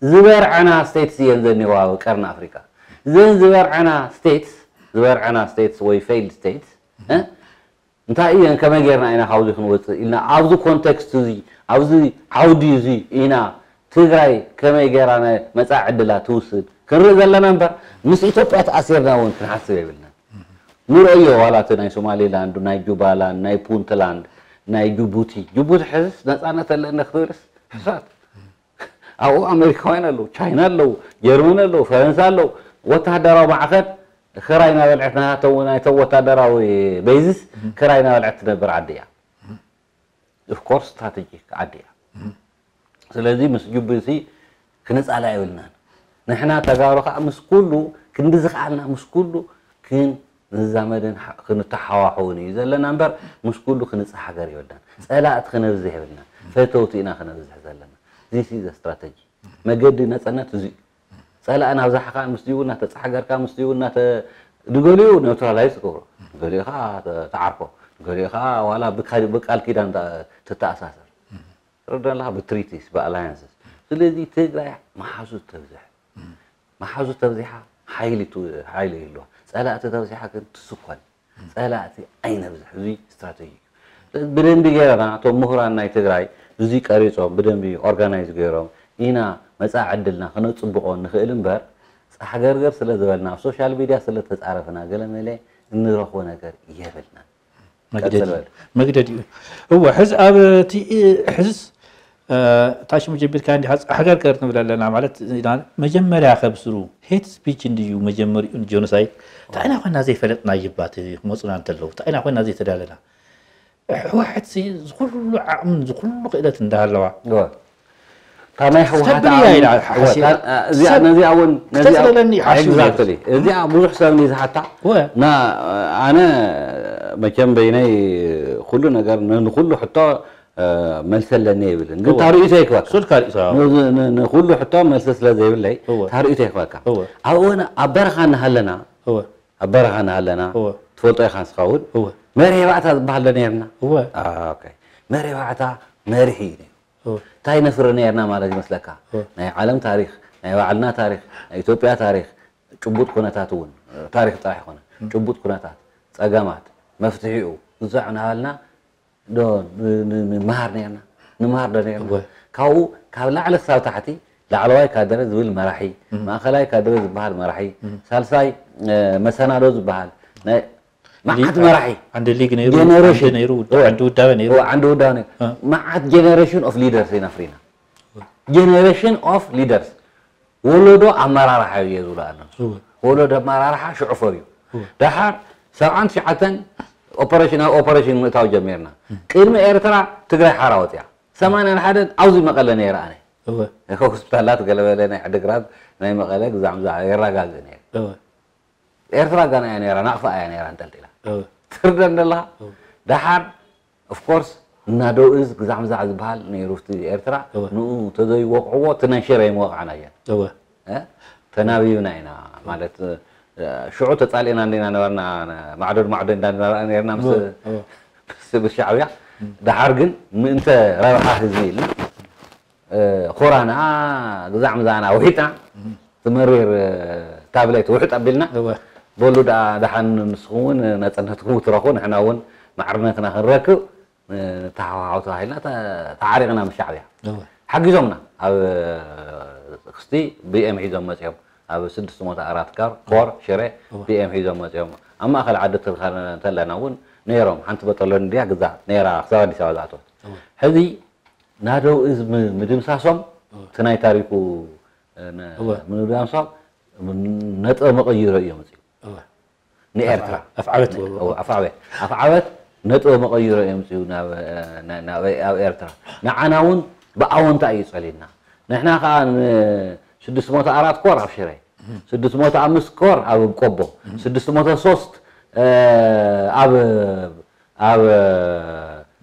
ዝበርዐና ስቴትስ እየን ዘኒዋ ኣብ ቀርኒ ኣፍሪቃ። ዘን ዝበርዐና ስቴትስ ዝበርዐና ስቴትስ ወይ ፌይልድ ስቴትስ እንታይ እየን ከመይ ጌርና ኢና ካብዚ ክንወፅእ ኢልና ኣብዚ ኮንቴክስት እዚ ኣብዚ ዓውዲ እዚ ኢና ትግራይ ከመይ ጌራ ናይ መፃኢ ዕድላ ትውስድ ክንርኢ ዘለና እምበር ምስ ኢትዮጵያ ተኣሲርና እውን ክንሓስብ የብልናን። ንርእዮ ዋላ እቲ ናይ ሶማሌላንድ ናይ ጁባላንድ ናይ ፑንትላንድ ናይ ጅቡቲ ጅቡቲ ሕዝስ ነፃነት ኣለኒ ክትብልስ ሕሳት ኣብኡ ኣሜሪካውያን ኣለዉ፣ ቻይና ኣለዉ፣ ጀርመን ኣለዉ፣ ፈረንሳ ኣለዉ። ወተሃደራዊ ማዕኸን ክራይ እናበልዐት ናቶም ናይቶም ወታደራዊ ቤዝስ ክራይ እናበልዐት ትነብር ዓዲ እያ። ኦፍኮርስ ስትራቴጂክ ዓዲ እያ። ስለዚ ምስ ጅቡቲ ክንፃላ የብልናን። ንሕና ተጋሩ ከዓ ምስ ኩሉ ክንዲ ዝኸኣልና ምስ ኩሉ ክን ንዛመድን ክንተሓዋሕውን እዩ ዘለና እምበር ምስ ኩሉ ክንፀሓገር የብልናን። ፀላእቲ ክነብዝሕ የብልናን። ፈተውቲ ኢና ክነብዝሕ ዘለና። This is a strategy። መገዲ ነፃነት እዚ እዩ። ፀላእ እናብዛሕካ ምስኡ እናተፀሓገርካ ምስኡ እናተ ንገሊኡ ኒውትራላይዝ ትገብሮ ንገሊኡ ከዓ ተዓርኮ ንገሊኡ ከዓ ዋላ ብቃል ኪዳን ትተኣሳሰር ትረዳለካ ብትሪቲስ ብኣላያንስስ ስለዚ ትግራይ መሓዙት ተብዝሕ መሓዙት ተብዚሓ ሓይሊ ይህልዋ ፀላእቲ ተብዚሓ ግን ትስኮን ፀላእቲ ኣይነብዝሕ እዙይ ስትራተጂ እዩ። ብደንቢ ገይረና እቶም ምሁራን ናይ ትግራይ እዙይ ቀሪፆም ብደንቢ ኦርጋናይዝ ገይሮም ኢና መፃኢ ዕድልና ክነፅብቆ ንኽእል እምበር ፃሕገርገር ስለ ዝበልና ኣብ ሶሻል ሚድያ ስለ ተፃረፍና ገለመለ እንረኽቦ ነገር የብልናን። መግደድ እዩ። መግደድ እዩ። እወ ሕዚ ኣብ እቲ ሕዝስ ታሽሙ ጀቢርካ እንዲኻ ፃሕገርገር ንብል ኣለና ማለት ኢና መጀመርያ ከብስሩ ሄት ስፒች እንድዩ መጀመሪኡ ጀኖሳይድ እንታይ ኢና ኮይና ዘይፈለጥና ይባት ክመፁና እንተለዉ እንታይ ኢና ኮይና ዘይተዳለና ህወሓት ዝኩሉ ዓቕምን ዝኩሉ ክእለት እንዳሃለዋ እታ ናይ ህወሓት ተብልያ ኢላ ሓሲባ ነዚኣ እውን ክተፅለለኒ ሓሲቡ exactly እዚኣ ብዙሕ ሰብ እንዲ ዝሓታ ና ኣነ መቸም በይነይ ኩሉ ነገር ንኩሉ ሕቶ መልሲ ኣለኒ ይብልን ግን ታርእቶ ይክበካ ሱልካ ርእቶ ንኩሉ ሕቶ መልሲ ስለ ዘይብለይ እወ። ታርእቶ ይክበካ እወ። ኣብኡ እውን ኣብ በረኻ እናሃለና እወ። ኣብ በረኻ እናሃለና እወ። ትፈልጦ ኢኻ ንስኻ እውን እወ። መርሄ ባእታ ዝበሃል ዶ ነርና እወ። ኦኬ። መርሄ ባእታ መርሒ እዩ ነይሩ እወ። እንታይ ነፍሪ ነርና ማለት ይመስለካ እወ። ናይ ዓለም ታሪክ ናይ ባዕልና ታሪክ ናይ ኢትዮጵያ ታሪክ ጭቡጥ ኩነታት እውን ታሪክ ጥራሕ ይኮነ ጭቡጥ ኩነታት ፀገማት መፍትሒኡ እዛዕ እናበልና ዶ ንምሃር ነርና ንምሃር ዶ ነርና እወ። ካብኡ ካብ ላዕሊ ክሳብ ታሕቲ ላዕለዋይ ካድረ ዝብል መራሒ እም። ማእኸላይ ካድረ ዝበሃል መራሒ እም። ሳልሳይ እ፣ መሰናዶ ዝበሃል ናይ መዓት መራሒ፣ ዓንዲ ሊግ ነይሩ፣ ጀነሬሽን። ዓንዲ ነይሩ፣ እወ። ዓንዲ ውዳበ ነይሩ። እወ፣ ዓንዲ ውዳበ ነይሩ። እ። መዓት ጀነሬሽን ኦፍ ሊደርስ ኢና ፍሪና። ጀነሬሽን ኦፍ ሊደርስ፣ ወለዶ ኣመራርሓ እዩ ዝብሉ ኣለዉ። እወ። ወለዶ ኣመራርሓ ሽዑ ፈርዩ። እወ። ደሓር ሰብዓን ትሽዓተን ኦፐሬሽን፣ ኣብ ኦፐሬሽን ምእታው ጀሚርና። ቅድሚ ኤርትራ ትግራይ ሓራ ወፅያ። ሰማንያን ሓደን ኣብዚ መቐለ ነይረ ኣነ። እወ። ሆስፒታላት ገለበለ ናይ ዓድግራት ናይ መቐለ ግዛዕ ምዛዕ የረጋግእ ነይረ። እወ። ኤርትራ ጋና እያ ነይራ፣ ናቕፋ እያ ነይራ እንጠልጢላ። እወ። ትርደን ደለኻ? እወ። ደሓር ኦፍኮርስ እና ደው እዝ ግዛዕ ምዛዕ ዝበሃል ነይሩ እቲ ኤርትራ። እወ። ንኡ ተዘይወቕዕዎ እቲ ናይ ሽረ ይምወቕዓና እየን። እወ። እ? ተናቢብና ኢና ማለት፣ እ፣ ሽዑ ተጻሊእና እንዲና ነበርና፣ ማዕዶድ ማዕዶድ እንዳነበርና ነርና ምስ፣ እወ፣ እወ። ምስ፣ ምስ ሻዕብያ። ደሓር ግን ምእንተ ረብሓ ህዝቢ ኢልና፣ እ፣ ኹራና ግዛዕ ምዛና ውሒጥና፣ ትመሪር፣ እ፣ ታብሌት ውሕጥ ኣቢልና፣ እወ። በሉ ደኣ ደሓን ንስኹም እውን ነጻነትኩም ክትረኽቡ ንሕና እውን ማዕርነትና ክንረክብ ንተሓዋወሱ ተባሂልና ተ-፣ ተዓሪቕና ምስ ሻዕብያ። እወ። ሓጊዞምና። ኣብ ክስቲ ቢኤም ሒዞም መጺኦም። ኣብ ስድስት መቶ ኣራት ካር፣ ኮር፣ ሽረ፣ እወ። ቢኤም ሒዞም መጺኦም። ኣብ ማእከል ዓዲ ትልካ እንተለና እውን ነይሮም። ሓንቲ በጠሎን እንድያ ግዛ ነይራ ክሳብ ኣዲስ ኣበባ ዝኣተወት። እወ። ሕዚ ናደው እዝ ም-፣ ምድምሳሶም፣ እወ። እቲ ናይ ታሪኩ፣ እ፣ ነ-፣ እወ። ምድምሳሶም ነጥበ መቐይሮ እዮም መጺኦም። እወ። ንኤርትራ። ኣፍ-፣ ኣፍዓበት እወ፣ ኣፍዓበት። ኣፍዓበት ነጥበ መቐይሮ እዮም መጺኡ ናብ፣ እ፣ ና-፣ ናብ፣ ኣብ ኤርትራ። ንዓና እውን ብኣወንታ እዩ ጸሊልና። ንሕና ከኣ ን-፣ ስድስት መቶ ኣራት ኮር ኣብ ሽረ፣ ስድስት መቶ ኣምስት ኮር ኣብ ቆቦ፣ ስድስት መቶ ሶስት፣ እ፣ ኣብ፣ ኣብ፣ እ፣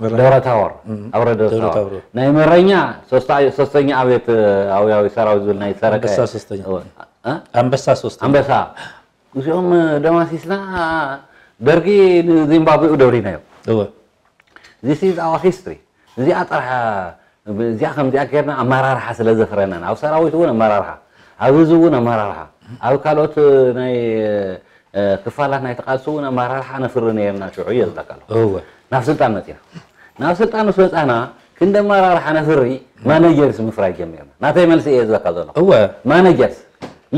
መራ-፣ ደብረ ታቦር፣ እም፣ ኣብ ወረዳ ደብረ ደብረ ታቦር። ታቦር። ናይ መረኛ ሶስታ-፣ ሶስተኛ ኣብየት፣ እ፣ ኣብያዊ ሰራዊት ዝብል ናይ ሰረቀ። ኣንበሳ ሶስተኛ። እወ። እ? ኣንበሳ ሶስተኛ። ኣንበሳ። እዚኦም ደማሲስና ደርጊ ንዚምባብዌኡ ደብሪናዮ። እወ። This is our history። እዚኣ ጥራሕ፣ እዚኣ ከምዚኣ ጌርና ኣመራርሓ ስለ ዘፍረናን፣ ኣብ ሰራዊት እውን ኣመራርሓ፣ ኣብ ህዝቢ እውን ኣመራርሓ፣ ኣብ ካልኦት ናይ፣ እ፣ ክፋላት ናይቲ ቃልሲ እውን ኣመራርሓ ነፍሪ ነይርና ሽዑ እየ ዝብለካ ኣለኹ። እወ። ናብ ስልጣን መፂና። ናብ ስልጣን ምስ መፃና ክንዲ ኣመራርሓ ነፍሪ ማነጀርስ ምፍራይ ጀሚርና። ናተይ መልሲ እየ ዝበካ ዘለኹ። እወ። ማነጀርስ።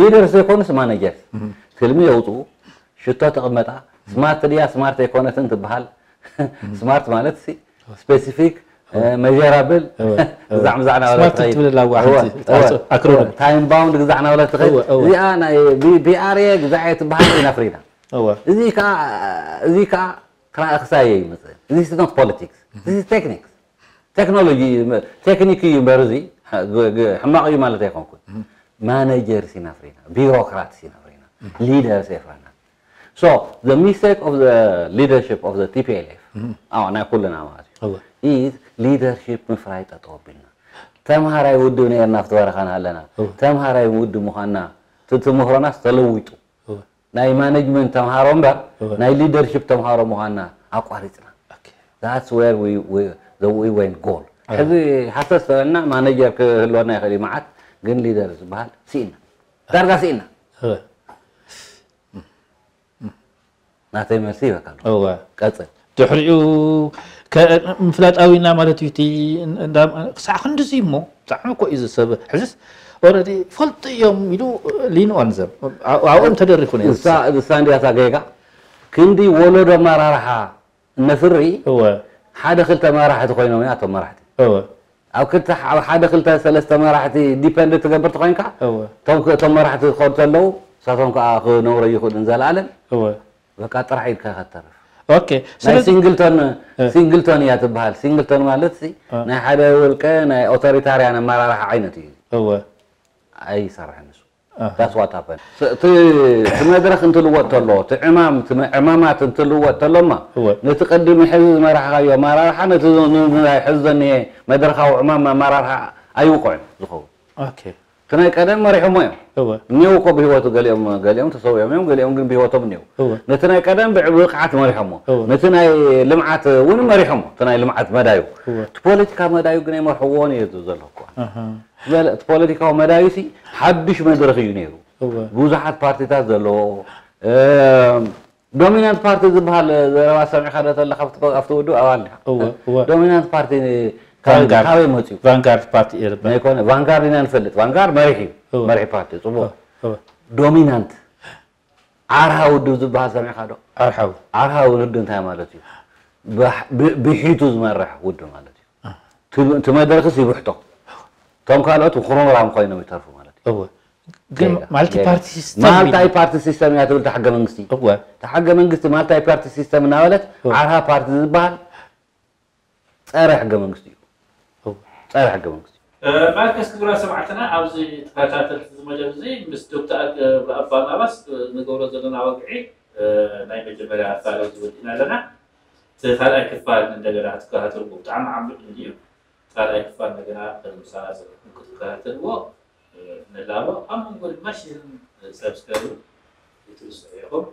ሊደርስ ዘይኮኑስ ማነጀርስ። እም። ትልሚ የውፅኡ፣ ሽቶ ተቐመጣ፣ ስማርት ድያ ስማርት ኣይኮነትን ትበሃል። ስማርት ማለት ሲ ስፔሲፊክ፣ እ፣ መጀራብል፣ እወ፣ እወ። ግዛዕ ምዛዕ ናበለ ስማርት ትኸይድ። ትብል ኣላ እወ፣ ሓንቲ እወ፣ ኣክሮኒም። ታይም ባውንድ ግዛዕ ናበለ ትኸይድ። እወ፣ እወ። እዚኣ ናይ ቢ-፣ ቢኣርኤ ግዛዕ እየ ትበሃል ኢና ፍሪና። እወ። እዚ ከኣ፣ እዚ ከኣ ክራይ ክሳየ ይመጽእ። This is not politics። This is techniques። ቴክኖሎጂ፣ ቴክኒክ እዩ እምበር እዚ፣ ግ-፣ ግ-፣ ሕማቕ እዩ ማለት ኣይኮንኩን። ማነጀርስ ኢና ፍሪና፣ ቢሮክራትስ ኢና ፍሪና፣ ሊደርስ የፍረና። So, the mistake of the leadership of the ቲ ፒ ኤል ኤፍ፣ እም። ኣዎ፣ ናይ ኩልና ማለት እዩ፣ እወ። Is leadership ምፍራይ ጠጠው ኣቢልና። ተምሃራይ ውድብ ነይርና ኣብቲ በረኻ እናሃለና፣ እወ። ተምሃራይ ውድብ ምዃንና፣ እቲ ትምህሮናስ ተለዊጡ። እወ። ናይ ማኔጅመንት ተምሃሮ እምበር፣ እወ። ናይ ሊደርሺፕ ተምሃሮ ምዃንና ኣቋሪጽና። ኦኬ። That's where we, we, the, we went goal። እወ። ሕዚ ሃሰስ ተበልና ማኔጀር ክህልወና ይኽእል እዩ መዓት፣ ግን ሊደር ዝበሃል ስኢና። ዳርጋ ስኢና። እወ። ናተይ መልሲ ይበካ ኣሎ። እወ። ቀጽል። ድሕሪኡ ከ-፣ ምፍላጣዊና ማለት እዩ እቲ እንዳ-፣ ክሳዕ ክንድዚ እሞ ብጣዕሚ እኮ እዩ ዝሰብ። ሕዝስ ኦረዲ ፈልጡ እዮም ኢሉ ሊን ኦን ዘም። ኣ-፣ ኣብኦም ተደሪኹ ነይሩ። እሳ፣ እሳ እንዲያ እታ ጌጋ። ክንዲ ወለዶ ኣመራርሓ እነፍሪ እወ። ሓደ ክልተ መራሕቲ ኮይኖም እዮም ኣቶም መራሕቲ። እወ። ኣብ ክልተ፣ ኣብ ሓደ ክልተ ሰለስተ መራሕቲ ዲፐንድ ትገብር ተኾይንካ፣ እወ። እቶም ክ-፣ እቶም መራሕቲ ክኸዱ ተለዉ፣ ንሳቶም ከኣ ክነብሩ ይኽእሉን ዘለኣለም። እወ። በቃ ጥራሕ ኢድካ ኢኻ ትተርፍ። ኦኬ፣ ናይ ስለዚ ሲንግልቶን፣ እ። ሲንግልቶን እያ ትበሃል። ሲንግልቶን ማለት ሲ፣ እ። ናይ ሓደ ውልቀ ናይ ኦቶሪታርያን ኣመራርሓ ዓይነት እዩ። እወ። ኣይሰርሕን ንሱ። ኣሃ። That's what happened። ስ-፣ እቲ፣ እቲ መድረኽ እንትልወጥ ተሎ፣ እቲ ዕማም፣ እቲ መ-፣ ዕማማት እንትልወጥ ተሎማ፣ እወ። ነቲ ቅድሚ ሕዚ ዝመራሕካዮ ኣመራርሓ፣ ነቲ ዝ-፣ ን-፣ ን-፣ ናይ ሕዚ ዘኒሀ መድረኻዊ ዕማም ኣመራርሓ ኣይውቅዕን ዝኸውን። ኦኬ። እቲ ናይ ቀደም መሪሖሞ እዮም። እወ። እኒአው እኮ ብህይወቱ ገሊኦም፣ ገሊኦም ተሰዊኦም እዮም፣ ገሊኦም ግን ብህይወቶም እኒአው። እወ። ነቲ ናይ ቀደም ብዕ-፣ ብብቕዓት መሪሖሞ። እወ። ነቲ ናይ ልምዓት እውን መሪሖሞ፣ እቲ ናይ ልምዓት መዳዩ። እወ። እቲ ፖለቲካ መዳዩ ግን ኣይመርሕዎን እየ ዝብል ዘለኹ እኮ። ኣሃ። ዝበለ፣ እቲ ፖለቲካዊ መዳዩ ሲ ሓድሽ መድረኽ እዩ ነይሩ። እወ። ብዙሓት ፓርቲታት ዘለዎ፣ እ፣ ዶሚናንት ፓርቲ ዝበሃል ዘረባ ሰሚዕካ ዶ ተለኻ ኣብቲ፣ ኣብቲ ውድብ ኣባል ዲኻ? እወ፣ እወ። ዶሚናንት ፓርቲ ካበይ፣ ቫንጋርድ። ካበይ መፅዩ? ቫንጋርድ ፓርቲ እዩ ዝበሃል። ዘይኮነ፣ ቫንጋርድ ኢና ንፈልጥ። ቫንጋርድ መሪሕ እዩ። እወ። መሪሕ ፓርቲ፣ ፅቡቅ። እወ፣ እወ። ዶሚናንት ዓርሃ ውድብ ዝበሃል ሰሚዕካ ዶ? ኣርሓው ዓርሃ ውድብ እንታይ ማለት እዩ? ብሕ- ብ- ብሒቱ ዝመርሕ ውድብ ማለት እዩ። እቲ- እቲ መድረኽስ ይብሕቶ፣ እቶም ካልኦት ኩርምራም ኮይኖም ይተርፉ ማለት እዩ። እወ ግን ጌጋ፣ ማልቲ ጌጋ። ፓርቲ ሲስተም ማልታይ ፓርቲ ሲስተም እያ ትብል እታ ሕገ መንግስቲ። እወ እታ ሕገ መንግስቲ ማልታይ ፓርቲ ሲስተም እናበለት እወ። ዓርሃ ፓርቲ ዝበሃል ጸረ ሕገ መንግስቲ እዩ። እወ ጸረ ሕገ መንግስቲ እዩ። ማርከስ ክቡራት ሰማዕትና ኣብዚ ተኸታተልቲ እዚ መደብ እዚ ምስ ዶክተር ኣገ- ባርናባስ ንገብሮ ዘለና ወግዒ ናይ መጀመርያ ክፋል እዚ ወዲእና ኣለና። እቲ ካልኣይ ክፋል እንደገና ክትከታተልዎ ብጣዕሚ ዓሚቕ እዩ። ካልኣይ ክፋል እንደገና ከምሳና ዘለኩም ክትከታተልዎ ንላቦ። ኣብ መንጎ ድማ ሽርን ሰብስክራይብ ይትርስዑ ኢኹም።